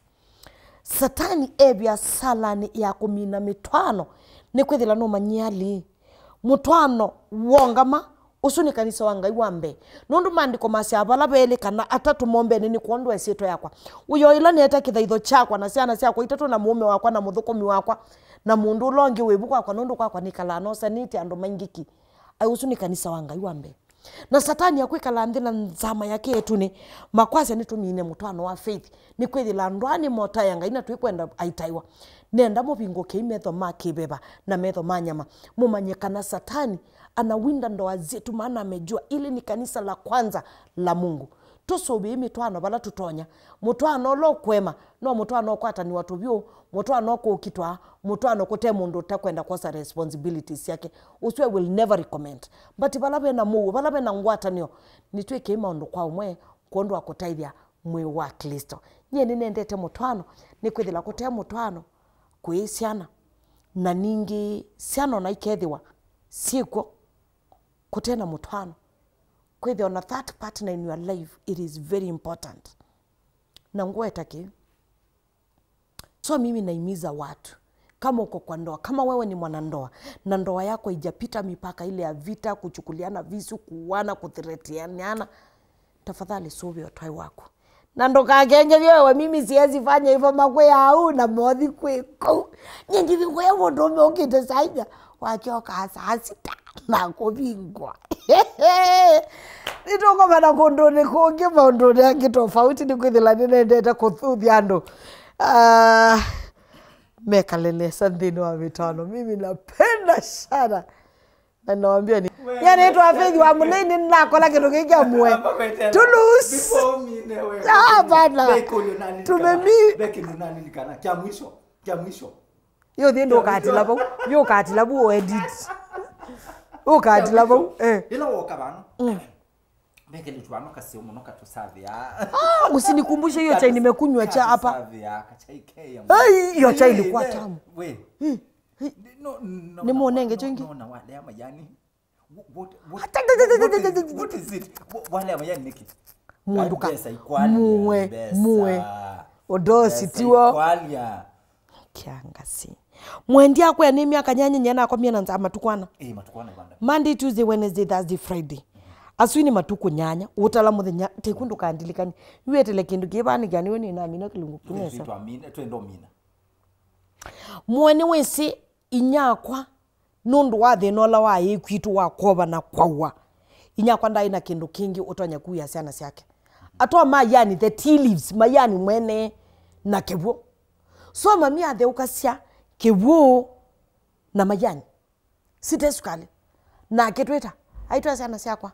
Satani e viasalanĩ ya kũmina mĩtwaano, nĩkwĩthĩla nũmanyie alĩ, mũtwaano wongama, ũsu nĩ kanisa wa Ngai wa mbee. Nũndũ maandĩko masyaa, vala ve elĩ kana atatũ mombene nĩ kwondũ wa ĩsyĩtwa yakwa. Ũyo ĩla nĩete kĩthaitho kyakwa na syana syakwa itatũ na mũũme wakwa na mũthũkũmi wakwa na mũndũ ũla ũngĩ wĩ vu kwakwa, nũndũ kwakwa nĩkalaa nosanĩtye andũ maingĩ ki. Ai, ũsu nĩ kanisa wa Ngai wa mbee. Na Satani akwĩkala nthĩ na nzama yake ĩtunĩ, makwasya nĩtũmine mũtwaano wa faith. Nĩkwĩthĩla andũ aa nĩmotaya Ngai na twĩkwenda aitaiwa. Nenda mũvingũkei metho ma kĩveva na metho ma nyama, mũmanye kana Satani anawinda ndoa zetu, maana amejua ili ni kanisa la kwanza la Mungu. Tũsũvĩe mĩtwaano vala tũtonya. Mũtwaano ũla ũkũema no mũtwaano ũkwatanĩwa tũvyũ, mũtwaano ũkũkitwa, mũtwaano kũte mũndũ ũtakwenda kwosa responsibilities syake. Ũsu I will never recommend. But vala vena mũuo, vala vena ngwatanĩo, nĩtwĩkei maũndũ kwa ũmwe kwondũ wa kũtaĩthya mwĩĩ wa Klĩsto. Nyie nĩnendete mũtwaano, nĩkwĩthĩla kũte mũtwaano kũĩ syana, na ningĩ syana ona ikethĩwa syĩkw'o kũte na mũtwaano, kwĩthĩwa na that partner in your life, it is very important. Na ngweta kĩ? So mimi naimiza watu, kama uko kwa ndoa, kama wewe ni mwanandoa na ndoa yako haijapita mipaka ile ya vita, kuchukuliana visu, kuuana, kuthreatiana, tafadhali sũvĩa ũtwaĩ waku. Na ndũkakenge vyo ewe, mimi siwezi fanya hivyo, makwĩ au na mothi kwĩ kũu. Nyie ndivi ngũya mũndũ ũme ũkĩte saa inya, wakyoka saa sita na kũvingwa. Nĩtũkomana kũndũnĩ kũngĩ, maũndũnĩ angĩ tofauti, nĩkwĩthĩla nĩnendete kũthuthya andũ. Ah, mekale nesa nthĩnĩ wa mĩtwaano. Mimi napenda sana. Na nawambia ni, nyie nĩtwa Faith wa Mũlei, nĩnakola kĩndũ kĩngĩ kya muoe. Tulus. Hapana. Tumemi. Kya mwisho, kya mwisho. Yo thi ndũkatila vau. Yo ũkatila vau edit. Ũkatila vau. Eh. Ĩla woka vano. Mm. Ve kelĩtu vano kaseo mũno katũsavĩa. Ah, usinikumbushe hiyo chai nimekunywa cha hapa. Katũsavĩa, kachai keya. Ai, hiyo chai ilikuwa tamu. We. Mm. No, no, nĩmũnenge kĩngĩ. No, na walea majani. What, what, what is it? Wa-, walea majani nĩkĩ? Mũndũ ka-, mbesa ikwalia, muwe, mbesa. Muwe. Ũndosi mbesa tiwo. Ikwalia. Kĩangasi. Mwendi akwĩa nĩ myaka nyanya nyie nakomie na nzaa matukũ ana. Eh, matukũ ana banda. Monday, Tuesday, Wednesday, Thursday, Friday. Asu nĩ matukũ nyanya. Ũtala mũthenya, teku ndũkandilikani. Yu etele kĩndũ kĩvanĩkĩa nĩwe nĩnamina kĩlungu kĩu nesa. Twamina, twenda ũmina. Mwe nĩwĩsĩ inyakwa, nũndũ wa thĩna ũla waĩ kwitũ wa kwova na kwaua, inyakwa ndaĩ na kĩndũ kĩngĩ ũtonya kuia syana syake. Atoa mayani, the tea leaves, mayani mwene na kĩw'ũ. So mami atheũkasya kĩw'ũ na mayani. Site sukali. Na akĩtwĩta, aitwĩa syana syakwa,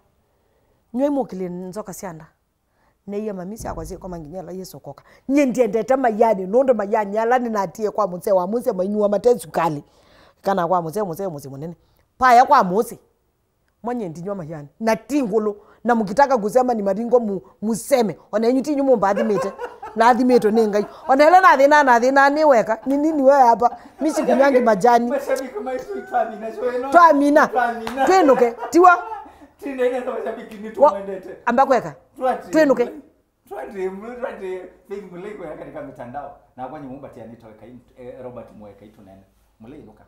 nyw'ai mũkĩlye nzoka sya nda. Neie mami syakwa syĩkoma nginya ĩla Yesũ ũkoka. Nyie ndiendete mayani, nũndũ mayani ala nĩnatie kwa mũsee wa mũsye mainyuwa mate sukali. Kana kwa mũsee, mũsee mũsĩ mũnene. Paya kwa mũsĩ. Mwanye ndinywa mayani. Na ti ngũlũ. Na mkitaka kusema ni maringo mu-, museme. Ona inyu ti inyu mũmbathimĩte. Nathimĩtwe nĩ Ngai. Ona ĩla nathĩna, nathĩna nĩ weka. Ni nini wewe hapa? Mi sikunywangi majani. Mashabiki maitũ twamina, so ĩno. Twamina. Twamina. Twĩnũke. Tiwa. Tindene na mashabiki nĩ wa-, tũmwendete. Amba kweka. Twati. Twĩnũke. Twati, twati, Faith Mũlei kweka katika mitandao. Na kwa nyumba tia nito kai, eh, Robert Mweka itunene. Mũlei nuka.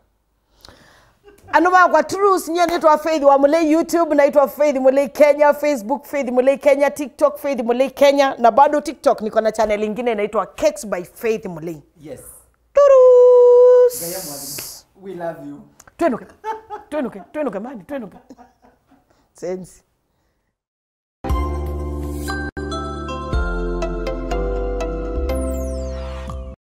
Andũ makwa Truce, nyie nĩtwa Faith wa Mũlei YouTube, naitwa Faith Mũlei Kenya, Facebook Faith Mũlei Kenya, TikTok Faith Mũlei Kenya, na bado TikTok niko na channel ingine inaitwa Cakes by Faith Mũlei. Yes. Turus. Ngaya mwathima. We love you. Twĩnũke. Twĩnũke, twĩnũke, mani, twĩnũke. Sensi.